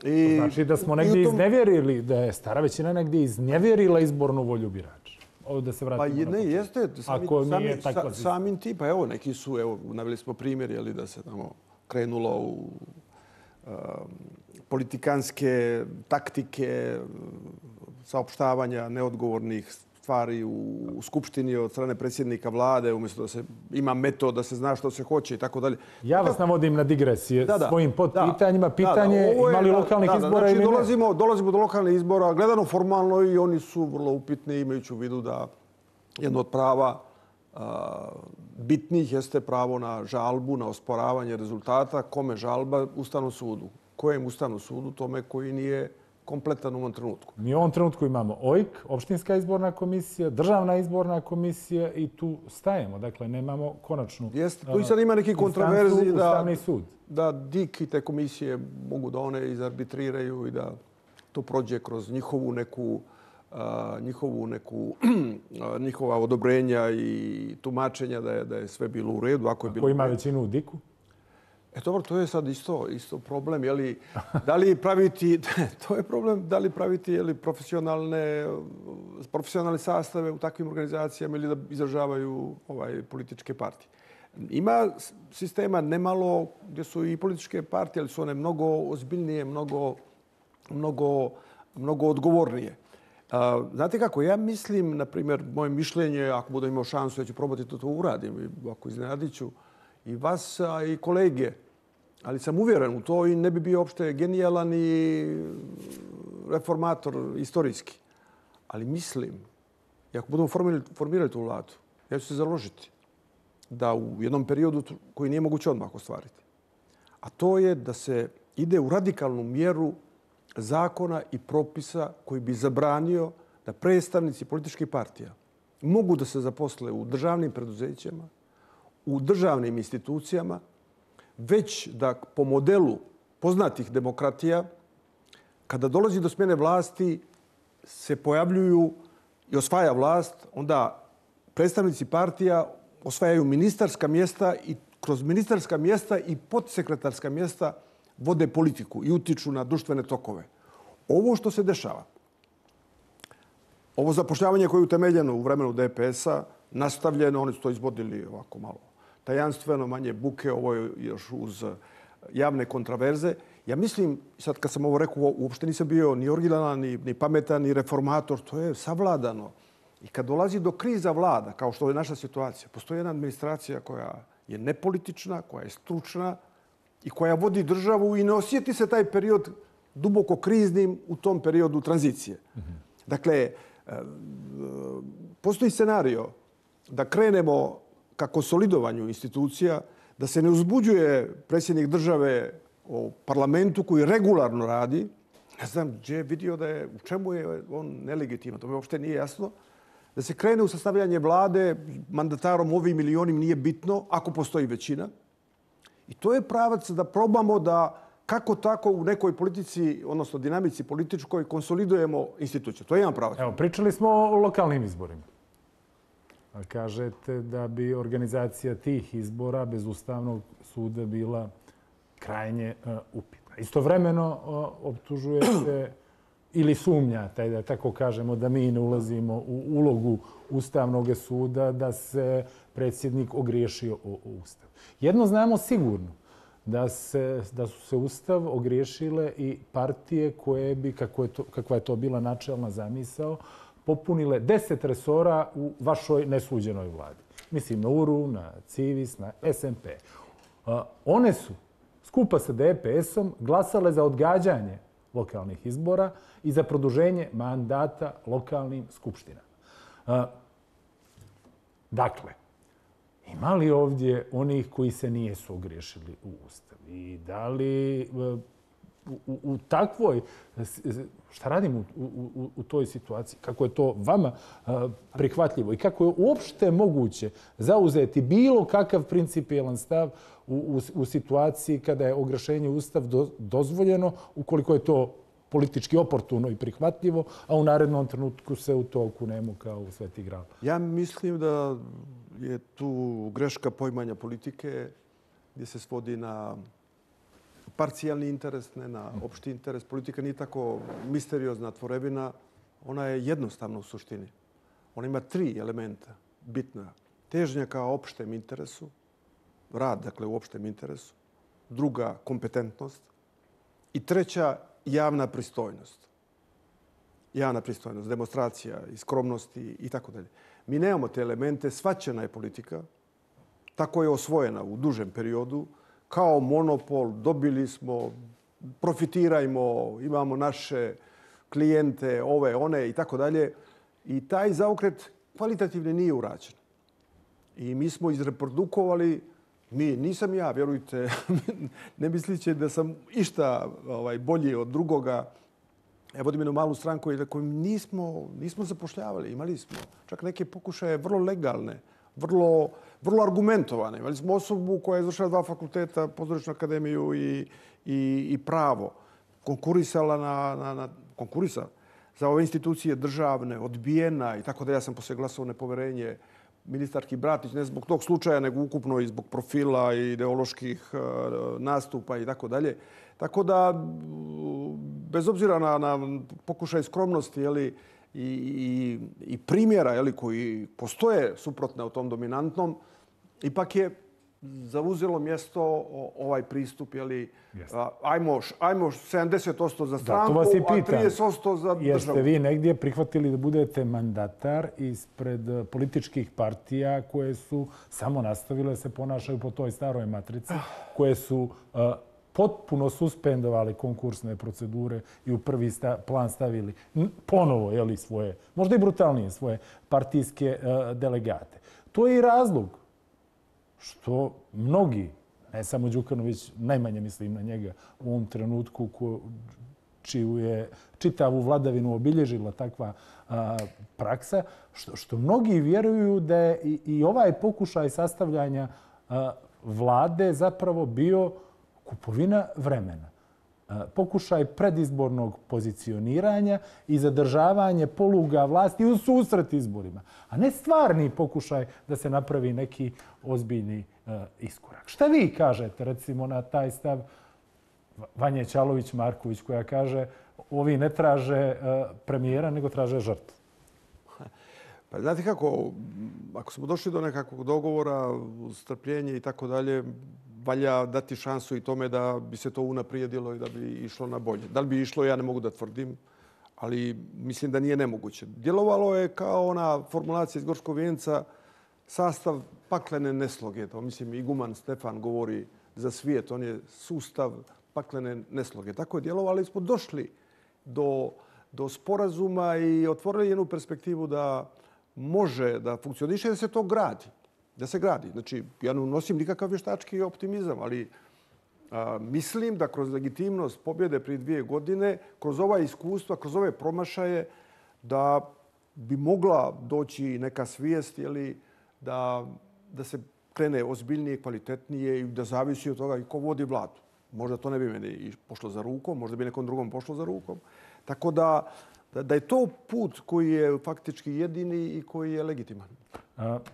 Speaker 1: I, znači da smo negdje tom... iznevjerili, da je stara većina negdje iznevjerila izbornu volju birača. Ovo da se vratimo
Speaker 2: pa, ne, jeste. Sami,
Speaker 1: Ako
Speaker 2: sami,
Speaker 1: nije tako...
Speaker 2: Sa, samim ti, pa evo, neki su, evo, naveli smo primjer, je li, da se tamo krenulo u uh, politikanske taktike, saopštavanja neodgovornih stvari u, u Skupštini od strane predsjednika vlade, umjesto da se ima metod, da se zna što se hoće i tako dalje.
Speaker 1: Ja vas navodim na digresije
Speaker 2: da, da,
Speaker 1: svojim podpitanjima. Pitanje je imali lokalnih
Speaker 2: da,
Speaker 1: izbora
Speaker 2: znači,
Speaker 1: ili ne?
Speaker 2: Dolazimo, dolazimo do lokalnih izbora, gledano formalno i oni su vrlo upitni, imajući u vidu da jedno od prava a, bitnih jeste pravo na žalbu, na osporavanje rezultata. Kome žalba? Ustavnom sudu. Kojem Ustavnom sudu? Tome koji nije kompletan u ovom trenutku.
Speaker 1: Mi u ovom trenutku imamo O I K, Opštinska izborna komisija, Državna izborna komisija i tu stajemo. Dakle, nemamo konačnu
Speaker 2: Jeste, tu i sad ima neki kontroverzi da,
Speaker 1: Ustavni sud.
Speaker 2: Da D I K i te komisije mogu da one izarbitriraju i da to prođe kroz njihovu neku a, njihovu neku a, njihova odobrenja i tumačenja da je, da je sve bilo u redu. Ako je bilo
Speaker 1: Ko ima većinu u D I K-u?
Speaker 2: E dobro, to je sad isto, isto problem. Je li, da li praviti, to je problem, da li praviti je li, profesionalne, profesionalne sastave u takvim organizacijama ili da izražavaju ovaj, političke partije. Ima sistema nemalo gdje su i političke partije, ali su one mnogo ozbiljnije, mnogo, mnogo, mnogo odgovornije. A, znate kako, ja mislim, na primjer, moje mišljenje, ako budem imao šansu, ja ću probati to, to uradim, ako iznenadit ću i vas a i kolege, ali sam uvjeren u to i ne bi bio uopšte genijalan i reformator istorijski. Ali mislim, i ako budemo formirali, formirali tu vladu, ja ću se založiti da u jednom periodu koji nije moguće odmah ostvariti, a to je da se ide u radikalnu mjeru zakona i propisa koji bi zabranio da predstavnici političkih partija mogu da se zaposle u državnim preduzećima, u državnim institucijama, već da po modelu poznatih demokratija, kada dolazi do smjene vlasti, se pojavljuju i osvaja vlast, onda predstavnici partija osvajaju ministarska mjesta i kroz ministarska mjesta i podsekretarska mjesta vode politiku i utiču na društvene tokove. Ovo što se dešava, ovo zapošljavanje koje je utemeljeno u vremenu D P S-a, nastavljeno, oni su to izvodili ovako malo tajanstveno, manje buke, ovo je još uz javne kontraverze. Ja mislim, sad kad sam ovo rekao, uopšte nisam bio ni originalan, ni, ni pametan, ni reformator, to je savladano. I kad dolazi do kriza vlada, kao što je naša situacija, postoji jedna administracija koja je nepolitična, koja je stručna i koja vodi državu i ne osjeti se taj period duboko kriznim u tom periodu tranzicije. Mm-hmm. Dakle, postoji scenario da krenemo ka konsolidovanju institucija, da se ne uzbuđuje predsjednik države o parlamentu koji regularno radi. Ne znam gdje je vidio da je, u čemu je on nelegitiman, to mi uopšte nije jasno. da se krene u sastavljanje vlade, mandatarom ovim ili onim nije bitno, ako postoji većina. I to je pravac da probamo da kako tako u nekoj politici, odnosno dinamici političkoj, konsolidujemo instituciju. To je jedan pravac.
Speaker 1: Evo, pričali smo o lokalnim izborima. Kažete da bi organizacija tih izbora bez Ustavnog suda bila krajnje uh, upitna. Istovremeno uh, optužujete ili sumnjate, da tako kažemo, da mi ne ulazimo u ulogu Ustavnog suda, da se predsjednik ogriješio o, o Ustav. Jedno znamo sigurno, da, se, da su se Ustav ogriješile i partije koje bi, kako je to, kakva je to bila načelna zamisao, popunile deset resora u vašoj nesuđenoj vladi. Mislim na U R U, na Civis, na S N P. One su skupa sa D P S-om glasale za odgađanje lokalnih izbora i za produženje mandata lokalnim skupštinama. Dakle, ima li ovdje onih koji se nijesu ogriješili u Ustav? I da li u, u takvoj, šta radimo u, u, u toj situaciji? Kako je to vama prihvatljivo? I kako je uopšte moguće zauzeti bilo kakav principijelan stav u, u, u situaciji kada je ogrešenje Ustav do, dozvoljeno, ukoliko je to politički oportuno i prihvatljivo, a u narednom trenutku se u to okunemo kao u Sveti Gral?
Speaker 2: Ja mislim da je tu greška poimanja politike gdje se svodi na parcijalni interes, ne na opšti interes. Politika nije tako misteriozna tvorevina. Ona je jednostavna u suštini. Ona ima tri elementa bitna. Težnja ka opštem interesu, rad, dakle, u opštem interesu. Druga, kompetentnost. I treća, javna pristojnost. Javna pristojnost, demonstracija i skromnosti i tako dalje. Mi nemamo te elemente. Shvaćena je politika. Tako je osvojena u dužem periodu. Kao monopol, dobili smo, profitirajmo, imamo naše klijente, ove, one i tako dalje. I taj zaokret kvalitativni nije urađen. I mi smo izreprodukovali, mi, nisam ja, vjerujte, ne misliće da sam išta ovaj, bolji od drugoga. Ja vodim jednu malu stranku koju nismo, nismo zapošljavali. Imali smo čak neke pokušaje vrlo legalne, vrlo, vrlo argumentovane. Imali smo osobu koja je izvršila dva fakulteta, Pozorišnu akademiju i, i, i pravo. Konkurisala na, na, na konkurisa za ove institucije državne, odbijena i tako da ja sam poslije glasovao nepoverenje ministarki Bratić, ne zbog tog slučaja, nego ukupno i zbog profila i ideoloških uh, nastupa i tako dalje. Tako da, bez obzira na, na pokušaj skromnosti, jeli, i, i, i primjera jeli, koji postoje suprotne u tom dominantnom, ipak je zauzelo mjesto ovaj pristup, jeli, ajmo, ajmo sedamdeset posto za stranku, da, a trideset posto za državu.
Speaker 1: Jeste vi negdje prihvatili da budete mandatar ispred političkih partija koje su samo nastavile da se ponašaju po toj staroj matrici, koje su uh, potpuno suspendovali konkursne procedure i u prvi sta, plan stavili ponovo jeli, svoje, možda i brutalnije, svoje partijske uh, delegate. To je i razlog što mnogi, ne samo Đukanović, najmanje mislim na njega u ovom trenutku, ko, čiju je čitavu vladavinu obilježila takva a, praksa, što, što mnogi vjeruju da je i, i ovaj pokušaj sastavljanja a, vlade zapravo bio kupovina vremena. A, pokušaj predizbornog pozicioniranja i zadržavanje poluga vlasti u susret izborima, a ne stvarni pokušaj da se napravi neki ozbiljni uh, iskorak. Šta vi kažete, recimo, na taj stav Vanje Ćalović-Marković, koja kaže ovi ne traže uh, premijera, nego traže žrtvu?
Speaker 2: Pa znate kako, ako smo došli do nekakvog dogovora, strpljenje i tako dalje, valja dati šansu i tome da bi se to unaprijedilo i da bi išlo na bolje. Da li bi išlo, ja ne mogu da tvrdim, ali mislim da nije nemoguće. Djelovalo je kao ona formulacija iz Gorskog vijenca, sastav paklene nesloge. To mislim iguman Stefan govori za svijet. On je sustav paklene nesloge. Tako je djelovali, smo došli do, do sporazuma i otvorili jednu perspektivu da može da funkcioniše, da se to gradi. Da se gradi. Znači, ja ne nosim nikakav vještački optimizam, ali a, mislim da kroz legitimnost pobjede prije dvije godine, kroz ova iskustva, kroz ove promašaje, da bi mogla doći neka svijest da, da se krene ozbiljnije, kvalitetnije i da zavisi od toga i ko vodi vladu. Možda to ne bi meni pošlo za rukom, možda bi nekom drugom pošlo za rukom. Tako da, da je to put koji je faktički jedini i koji je legitiman.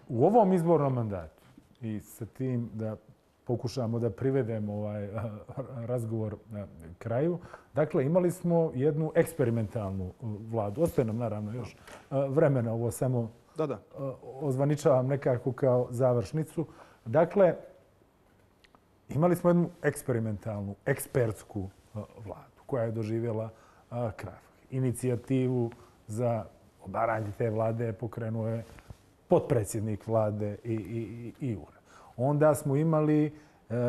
Speaker 1: U ovom izbornom mandatu i sa tim da pokušamo da privedemo ovaj razgovor na kraju. Dakle, imali smo jednu eksperimentalnu vladu. Ostaje nam naravno još vremena, ovo samo
Speaker 2: da, da.
Speaker 1: ozvaničavam nekako kao završnicu. Dakle, imali smo jednu eksperimentalnu, ekspertsku vladu koja je doživjela krah. Inicijativu za obaranje te vlade pokrenuo je potpredsjednik vlade i, i, i Jura. Onda smo imali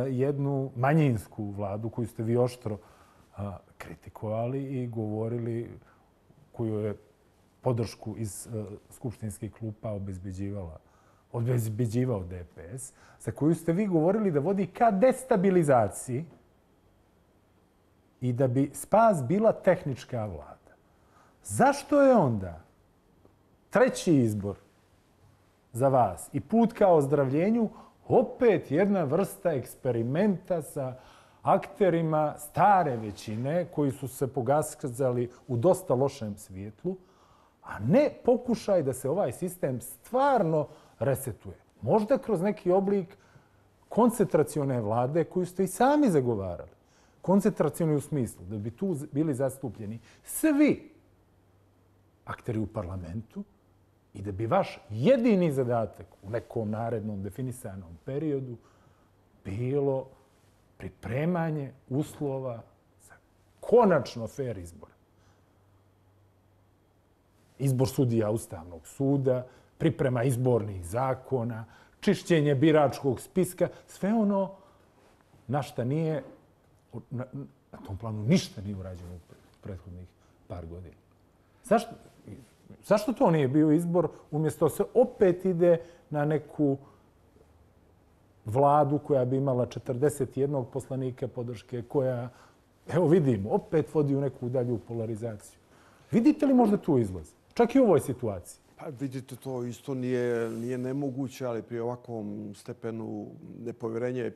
Speaker 1: jednu manjinsku vladu koju ste vi oštro kritikovali i govorili, koju je podršku iz skupštinskih klupa obezbeđivala, obezbeđivao D P S, za koju ste vi govorili da vodi ka destabilizaciji i da bi spas bila tehnička vlada. Zašto je onda treći izbor za vas i put ka ozdravljenju opet jedna vrsta eksperimenta sa akterima stare većine koji su se pokazali u dosta lošem svijetlu, a ne pokušaj da se ovaj sistem stvarno resetuje? Možda kroz neki oblik koncentracione vlade koju ste i sami zagovarali. Koncentracioni u smislu da bi tu bili zastupljeni svi akteri u parlamentu i da bi vaš jedini zadatak u nekom narednom definisanom periodu bilo pripremanje uslova za konačno fer izbor. Izbor sudija Ustavnog suda, priprema izbornih zakona, čišćenje biračkog spiska, sve ono na šta nije, na, na tom planu ništa nije urađeno u prethodnih par godina. Zašto? Zašto to nije bio izbor? Umjesto se opet ide na neku vladu koja bi imala četrdeset jedan poslanika podrške, koja, evo vidimo, opet vodi u neku dalju polarizaciju. Vidite li možda tu izlaz? Čak i u ovoj situaciji.
Speaker 2: Pa vidite, to isto nije, nije nemoguće, ali pri ovakvom stepenu nepovjerenja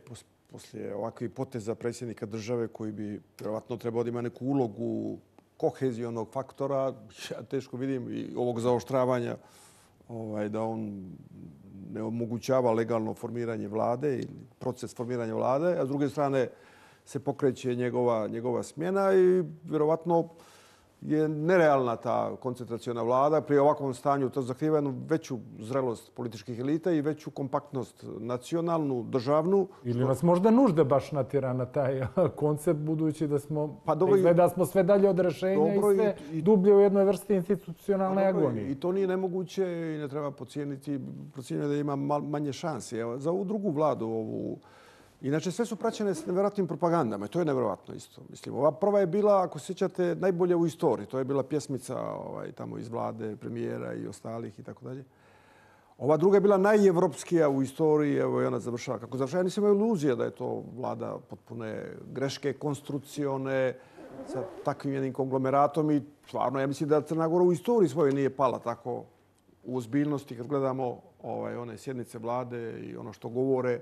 Speaker 2: poslije ovakvih poteza predsjednika države koji bi vjerovatno trebao da ima neku ulogu kohezionog faktora, ja teško vidim i ovog zaoštravanja ovaj, da on ne omogućava legalno formiranje vlade ili proces formiranja vlade, a s druge strane se pokreće njegova, njegova smjena i vjerovatno je nerealna ta koncentraciona vlada. Pri ovakvom stanju to zahtijeva jednu veću zrelost političkih elita i veću kompaktnost nacionalnu, državnu.
Speaker 1: Ili nas možda nužda baš natjera na taj koncept, budući da smo,
Speaker 2: pa dobro,
Speaker 1: izgleda smo sve dalje od rešenja dobro, i sve i, dublje u jednoj vrsti institucionalne
Speaker 2: pa
Speaker 1: agonije.
Speaker 2: I to nije nemoguće i ne treba pocijeniti, procijeniti da ima manje šanse. Evo, za ovu drugu vladu, ovu inače, sve su praćene s nevjerojatnim propagandama i to je nevjerojatno isto. Mislim, ova prva je bila, ako sjećate, najbolje u istoriji. To je bila pjesmica ovaj, tamo iz vlade, premijera i ostalih i tako dalje. Ova druga je bila najevropskija u istoriji, evo i ona završava. Kako završava, ja nisam imao iluzija da je to vlada potpune greške, konstrukcione, sa takvim jednim konglomeratom i stvarno, ja mislim da Crna Gora u istoriji svojoj nije pala tako u ozbiljnosti kad gledamo ovaj, one sjednice vlade i ono što govore.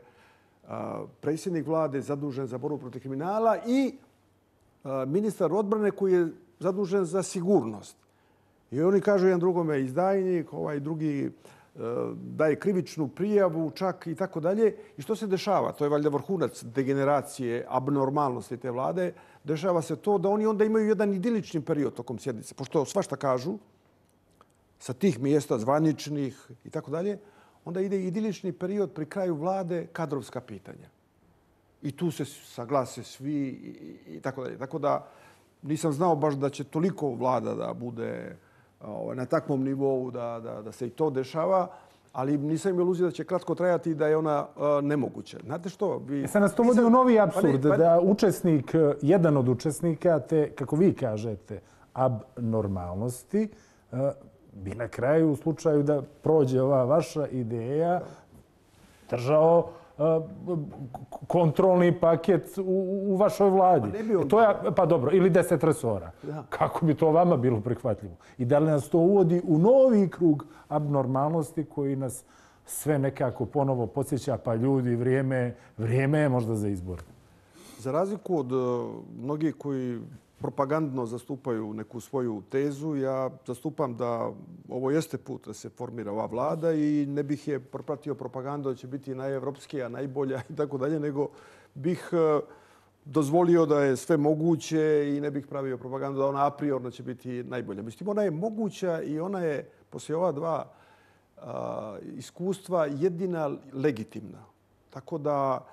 Speaker 2: Predsjednik vlade zadužen za borbu protiv kriminala i ministar odbrane koji je zadužen za sigurnost. I oni kažu jedan drugome izdajnik, ovaj drugi daje krivičnu prijavu čak i tako dalje. I što se dešava? To je valjda vrhunac degeneracije, abnormalnosti te vlade. Dešava se to da oni onda imaju jedan idilični period tokom sjednice. Pošto svašta kažu sa tih mjesta zvaničnih i tako dalje, onda ide idilični period pri kraju vlade, kadrovska pitanja. I tu se saglase svi i tako dalje. Tako da nisam znao baš da će toliko vlada da bude na takvom nivou da, da, da se i to dešava, ali nisam imao iluziju da će kratko trajati i da je ona nemoguća. Znate što? Vi...
Speaker 1: E sad nas to vodi u novi apsurd, pa ne, pa... da učesnik, jedan od učesnika te, kako vi kažete, abnormalnosti, bi na kraju, u slučaju da prođe ova vaša ideja, držao kontrolni paket u vašoj vladi. Pa dobro, ili deset resora. Kako bi to vama bilo prihvatljivo? I da li nas to uvodi u novi krug abnormalnosti koji nas sve nekako ponovo podsjeća, pa ljudi, vrijeme, vrijeme je možda za izbor.
Speaker 2: Za razliku od mnogih koji propagandno zastupaju neku svoju tezu, ja zastupam da ovo jeste put da se formira ova vlada i ne bih je propratio propagandu da će biti najevropskija, najbolja i tako dalje, nego bih dozvolio da je sve moguće i ne bih pravio propagandu da ona a priorno će biti najbolja. Mislim, ona je moguća i ona je poslije ova dva a, iskustva jedina legitimna. Tako da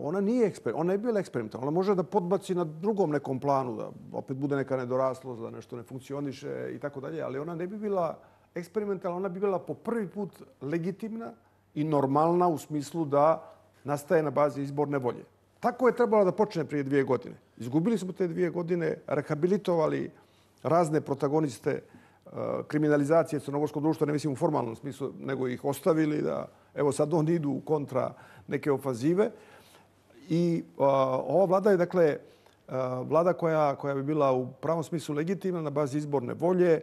Speaker 2: ona nije eksperiment, ona je bila eksperimentalna. Ona može da podbaci na drugom nekom planu, da opet bude neka nedoraslost, da nešto ne funkcioniše i tako dalje, ali ona ne bi bila eksperimentalna, ona bi bila po prvi put legitimna i normalna u smislu da nastaje na bazi izborne volje. Tako je trebalo da počne prije dvije godine. Izgubili smo te dvije godine, rehabilitovali razne protagoniste kriminalizacije crnogorskog društva, ne mislim u formalnom smislu, nego ih ostavili da, evo sad oni idu u kontra neke ofazive. I a, ova vlada je, dakle, a, vlada koja, koja bi bila u pravom smislu legitimna na bazi izborne volje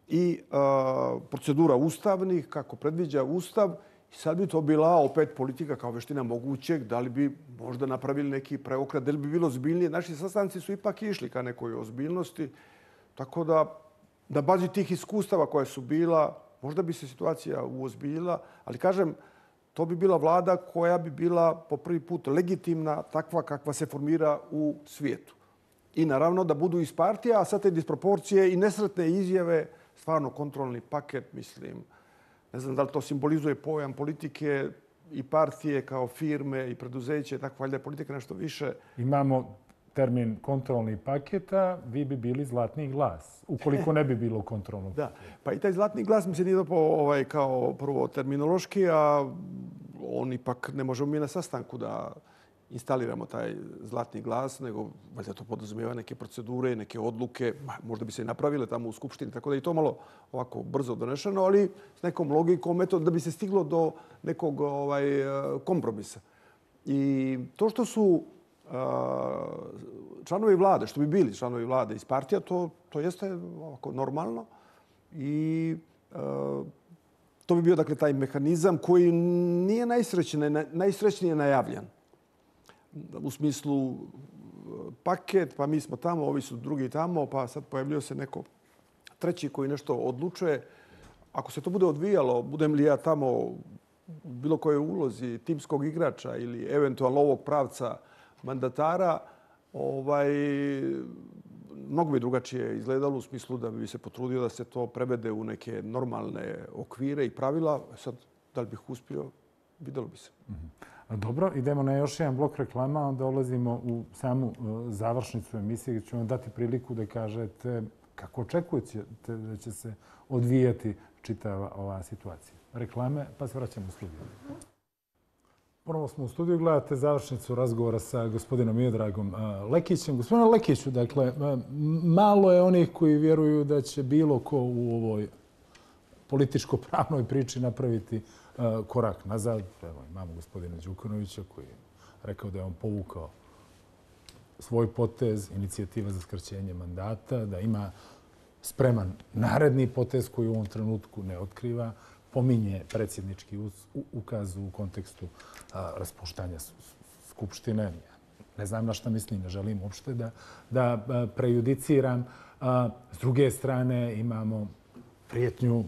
Speaker 2: i a, procedura ustavnih, kako predviđa Ustav. I sad bi to bila opet politika kao veština mogućeg, da li bi možda napravili neki preokret, da li bi bilo ozbiljnije. Naši sastanci su ipak išli ka nekoj ozbiljnosti, tako da na bazi tih iskustava koja su bila, možda bi se situacija uozbiljila, ali kažem, to bi bila vlada koja bi bila po prvi put legitimna, takva kakva se formira u svijetu. I naravno da budu iz partija, a sad te disproporcije i nesretne izjave, stvarno kontrolni paket, mislim, ne znam da li to simbolizuje pojam politike i partije kao firme i preduzeće, tako valjda je politika nešto više.
Speaker 1: Imamo termin kontrolni paketa, vi bi bili zlatni glas, ukoliko ne bi bilo kontrolnog.
Speaker 2: Da, pa i taj zlatni glas mi se nije dopao ovaj, kao prvo terminološki, a on ipak ne možemo mi na sastanku da instaliramo taj zlatni glas, nego valjda to podrazumijeva neke procedure, neke odluke, možda bi se i napravile tamo u Skupštini, tako da je to malo ovako brzo donešeno, ali s nekom logikom, eto, da bi se stiglo do nekog ovaj, kompromisa. I to što su članovi vlade, što bi bili članovi vlade iz partija, to, to jeste ovako normalno. I uh, to bi bio dakle taj mehanizam koji nije najsrećnije, najsrećnije najavljan. U smislu paket, pa mi smo tamo, ovi su drugi tamo, pa sad pojavljio se neko treći koji nešto odlučuje. Ako se to bude odvijalo, budem li ja tamo u bilo kojoj ulozi timskog igrača ili eventualno ovog pravca mandatara, ovaj, mnogo bi drugačije izgledalo u smislu da bi se potrudio da se to prevede u neke normalne okvire i pravila. Sad, da li bih uspio, vidjelo bi se.
Speaker 1: Dobro, idemo na još jedan blok reklama, onda dolazimo u samu završnicu emisije gdje ću vam dati priliku da kažete kako očekujete da će se odvijati čitava ova situacija. Reklame, pa se vraćamo u studiju. Ponovo smo u studiju, gledate završnicu razgovora sa gospodinom Miodragom Lekićem. Gospodine Lekiću, dakle, malo je onih koji vjeruju da će bilo ko u ovoj političko-pravnoj priči napraviti korak nazad. Evo, imamo gospodina Đukanovića koji je rekao da je on povukao svoj potez, inicijativa za skraćenje mandata, da ima spreman naredni potez koji u ovom trenutku ne otkriva. Pominje predsjednički ukaz u kontekstu raspuštanja Skupštine. Ne znam na šta mislim, ne želim uopšte da, da prejudiciram. S druge strane imamo prijetnju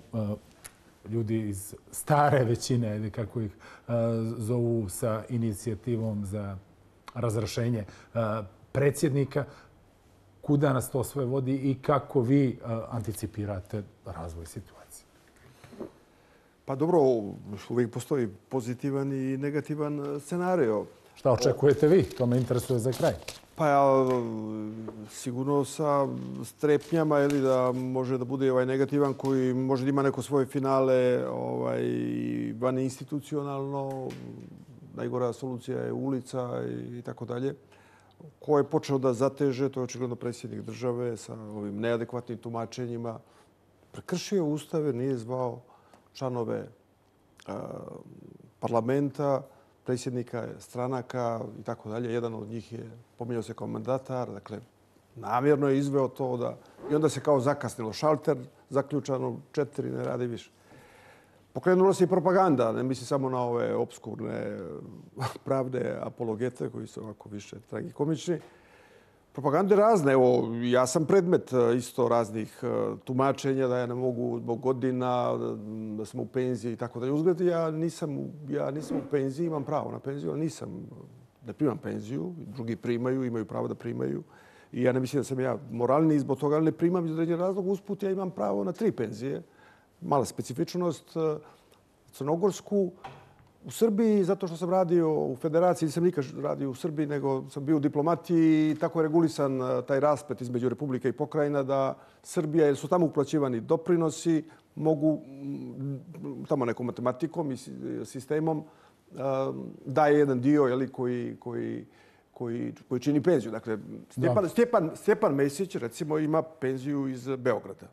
Speaker 1: ljudi iz stare većine, kako ih zovu, sa inicijativom za razrješenje predsjednika. Kuda nas to sve vodi i kako vi anticipirate razvoj situacije?
Speaker 2: Pa dobro, uvijek postoji pozitivan i negativan scenario.
Speaker 1: Šta očekujete vi? To me interesuje za kraj.
Speaker 2: Pa ja sigurno sa strepnjama ili da može da bude ovaj negativan koji može da ima neko svoje finale ovaj, van institucionalno. Najgora solucija je ulica i tako dalje. Ko je počeo da zateže, to je očigledno predsjednik države sa ovim neadekvatnim tumačenjima. Prekršio Ustav jer nije zvao članove parlamenta, predsjednika stranaka i tako dalje. Jedan od njih je pominjao se kao mandatar. Dakle, namjerno je izveo to da... I onda se kao zakasnilo. Šalter zaključano, četiri, ne radi više. Pokrenula se i propaganda, ne misli samo na ove obskurne pravde apologete koji su ovako više tragikomični. Propagande razne. Evo, ja sam predmet isto raznih tumačenja da ja ne mogu zbog godina, da sam u penziji i tako dalje. Uzgled, ja nisam, ja nisam u penziji, imam pravo na penziju, ali nisam, ne primam penziju. Drugi primaju, imaju pravo da primaju. I ja ne mislim da sam ja moralni zbog toga, ali ne primam iz određenog razloga. Usput ja imam pravo na tri penzije. Mala specifičnost, crnogorsku. U Srbiji, zato što sam radio u federaciji, nisam nikad radio u Srbiji, nego sam bio u diplomatiji i tako je regulisan taj rasplet između Republike i pokrajina da Srbija, jer su tamo uplaćivani doprinosi, mogu tamo nekom matematikom i sistemom daje jedan dio jeli, koji, koji, koji, koji čini penziju. Dakle, Stjepan, Stjepan, Stjepan Mesić, recimo, ima penziju iz Beograda.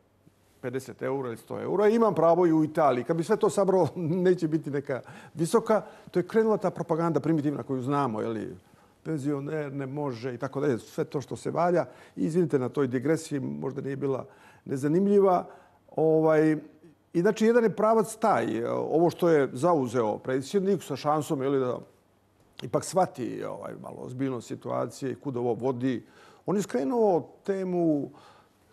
Speaker 2: pedeset eura ili sto eura. Imam pravo i u Italiji. Kad bi sve to sabralo, neće biti neka visoka. To je krenula ta propaganda primitivna koju znamo. Jeli, penzioner ne može i tako dalje. Sve to što se valja. Izvinite na toj digresiji, možda nije bila nezanimljiva. Ovaj, I znači, jedan je pravac taj. Ovo što je zauzeo predsjednik sa šansom jeli, da ipak shvati ovaj, malo ozbiljnost situacije i kuda ovo vodi. On je skrenuo temu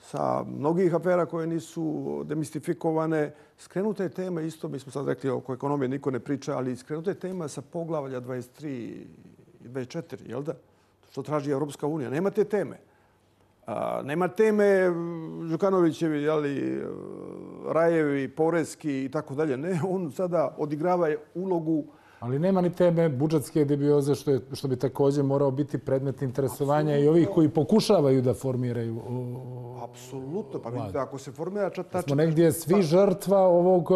Speaker 2: sa mnogih afera koje nisu demistifikovane. Skrenuta je tema isto, mi smo sad rekli oko ekonomije niko ne priča, ali skrenuta je tema sa poglavlja dvadeset tri i dvadeset četiri, jel da? Što traži Evropska unija. Nema te teme. A, nema teme Đukanovićevi, jeli, Rajevi, Poreski i tako dalje. Ne, on sada odigrava ulogu.
Speaker 1: Ali nema ni teme budžetske debioze, što, je, što bi također morao biti predmet interesovanja i ovih koji pokušavaju da formiraju o,
Speaker 2: apsolutno. Pa vidite, ako se formira čata...
Speaker 1: Smo negdje svi žrtva ovog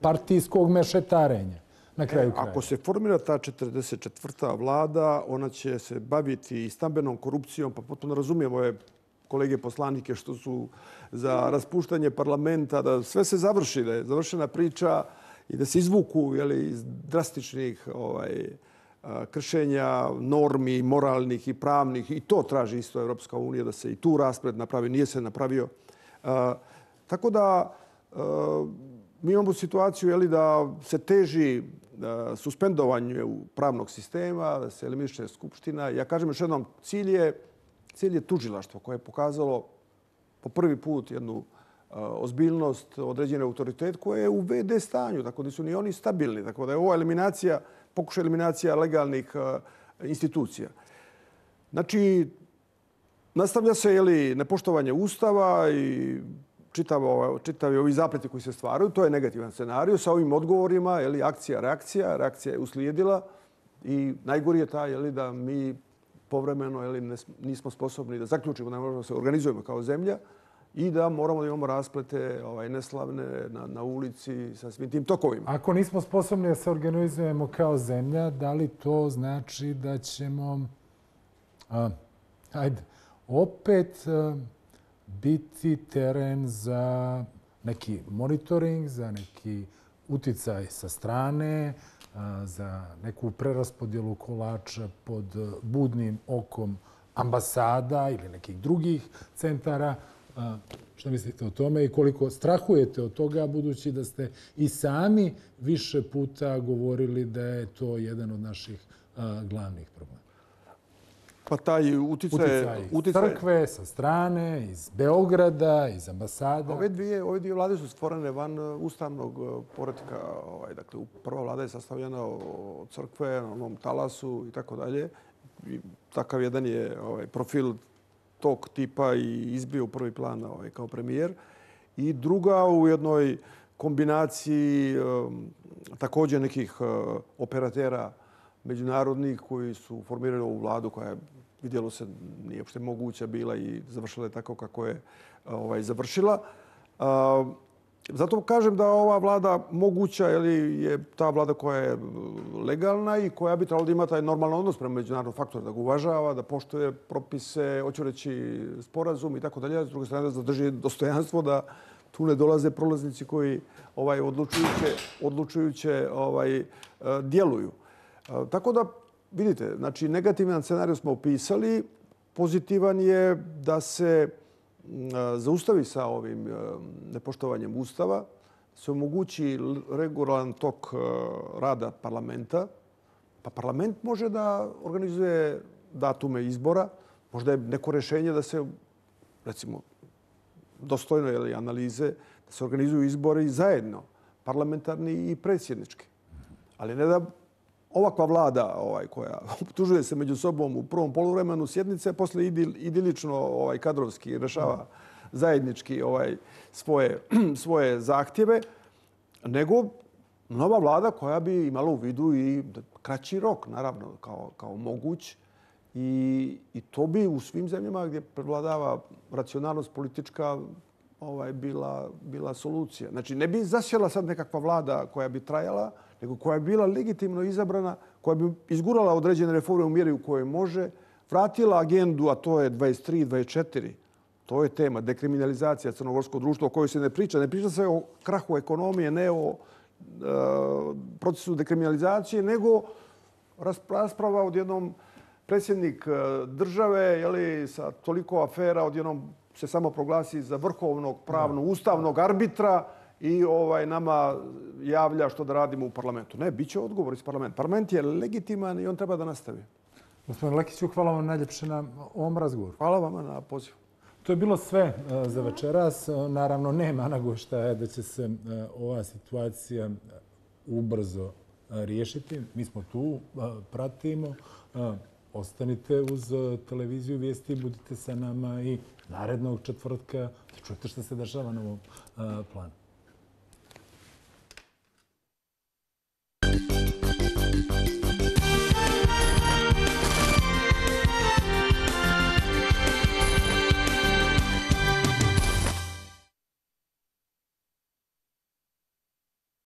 Speaker 1: partijskog mešetarenja. Na kraju kraja.
Speaker 2: Ako se formira ta četrdeset četvrta vlada, ona će se baviti i stambenom korupcijom, pa potpuno razumijem ove kolege poslanike što su za raspuštanje parlamenta, da sve se završi, da je završena priča i da se izvuku jeli, iz drastičnih ovaj, kršenja normi, moralnih i pravnih. I to traži isto Evropska unija, da se i tu raspred napravi. Nije se napravio. A, tako da a, mi imamo situaciju jeli, da se teži da, suspendovanju pravnog sistema, da se eliminiše skupština. Ja kažem još jednom, cilj je, cilj je tužilaštvo koje je pokazalo po prvi put jednu ozbiljnost, određeni autoritet koje je u ve de stanju, tako da su ni oni stabilni. Tako da je ovo eliminacija, pokušaj eliminacija legalnih institucija. Znači, nastavlja se jeli, nepoštovanje Ustava i čitavo, čitavi ovi zapleti koji se stvaraju. To je negativan scenarij. Sa ovim odgovorima, jeli, akcija, reakcija. Reakcija je uslijedila i najgori je taj jeli, da mi povremeno jeli, nismo sposobni da zaključimo, da možemo se organizujemo kao zemlja i da moramo da imamo rasplete ovaj, neslavne na, na ulici sa svim tim tokovima.
Speaker 1: Ako nismo sposobni da se organizujemo kao zemlja, da li to znači da ćemo a, ajde, opet a, biti teren za neki monitoring, za neki uticaj sa strane, a, za neku preraspodjelu kolača pod budnim okom ambasada ili nekih drugih centara? A, šta mislite o tome i koliko strahujete od toga, budući da ste i sami više puta govorili da je to jedan od naših a, glavnih problema?
Speaker 2: Pa taj uticaj...
Speaker 1: Uticaj iz crkve, sa strane, iz Beograda, iz ambasada.
Speaker 2: Ove dvije, ove dvije vlade su stvorene van ustavnog poretka. Ovaj, dakle, prva vlada je sastavljena od crkve, na onom talasu i tako dalje. I takav jedan je ovaj, profil tog tipa i izbio u prvi plan ovaj, kao premijer. I druga u jednoj kombinaciji um, također nekih uh, operatera međunarodnih koji su formirali ovu vladu koja je, vidjelo se, nije uopšte moguća bila i završila je tako kako je ovaj, završila. Uh, zato kažem da ova vlada moguća ili je ta vlada koja je legalna i koja bi trebala da ima taj normalan odnos prema međunarodnom faktoru, da ga uvažava, da poštuje propise, hoću reći sporazum i tako dalje. S druge strane da zadrži dostojanstvo da tu ne dolaze prolaznici koji ovaj, odlučujuće, odlučujuće ovaj, djeluju. Tako da, vidite, znači negativan scenarij smo opisali. Pozitivan je da se zaustavi sa ovim nepoštovanjem Ustava, se omogući regularan tok rada parlamenta. Pa parlament može da organizuje datume izbora. Možda je neko rešenje da se, recimo, dostojno je analize, da se organizuju izbori zajedno, parlamentarni i predsjednički. Ali ne da ovakva vlada ovaj, koja optužuje se među sobom u prvom poluvremenu sjednice, posle idil, idilično ovaj, kadrovski rešava zajednički ovaj, svoje, svoje zahtjeve, nego nova vlada koja bi imala u vidu i kraći rok, naravno, kao, kao moguć. I, I to bi u svim zemljama gdje prevladava racionalnost politička ovaj, bila, bila solucija. Znači, ne bi zasjela sad nekakva vlada koja bi trajala, nego koja bi bila legitimno izabrana, koja bi izgurala određene reforme u mjeri u kojoj može, vratila agendu, a to je dvadeset tri dvadeset četiri. To je tema, dekriminalizacija crnogorskog društva o kojoj se ne priča. Ne priča se o krahu ekonomije, ne o e, procesu dekriminalizacije, nego rasprava odjednom predsjednik države, jeli, sa toliko afera, odjednom se samo proglasi za vrhovnog pravnog ustavnog arbitra i ovaj nama javlja što da radimo u parlamentu. Ne, bit će odgovor iz parlamenta. Parlament je legitiman i on treba da nastavi.
Speaker 1: Gospodin Lekiću, hvala vam najljepše na ovom razgovoru.
Speaker 2: Hvala vama na pozivu.
Speaker 1: To je bilo sve za večeras. Naravno, nema nagovještaja da će se ova situacija ubrzo riješiti. Mi smo tu, pratimo. Ostanite uz televiziju Vijesti, budite sa nama i narednog četvrtka da čujete što se dešava na ovom planu.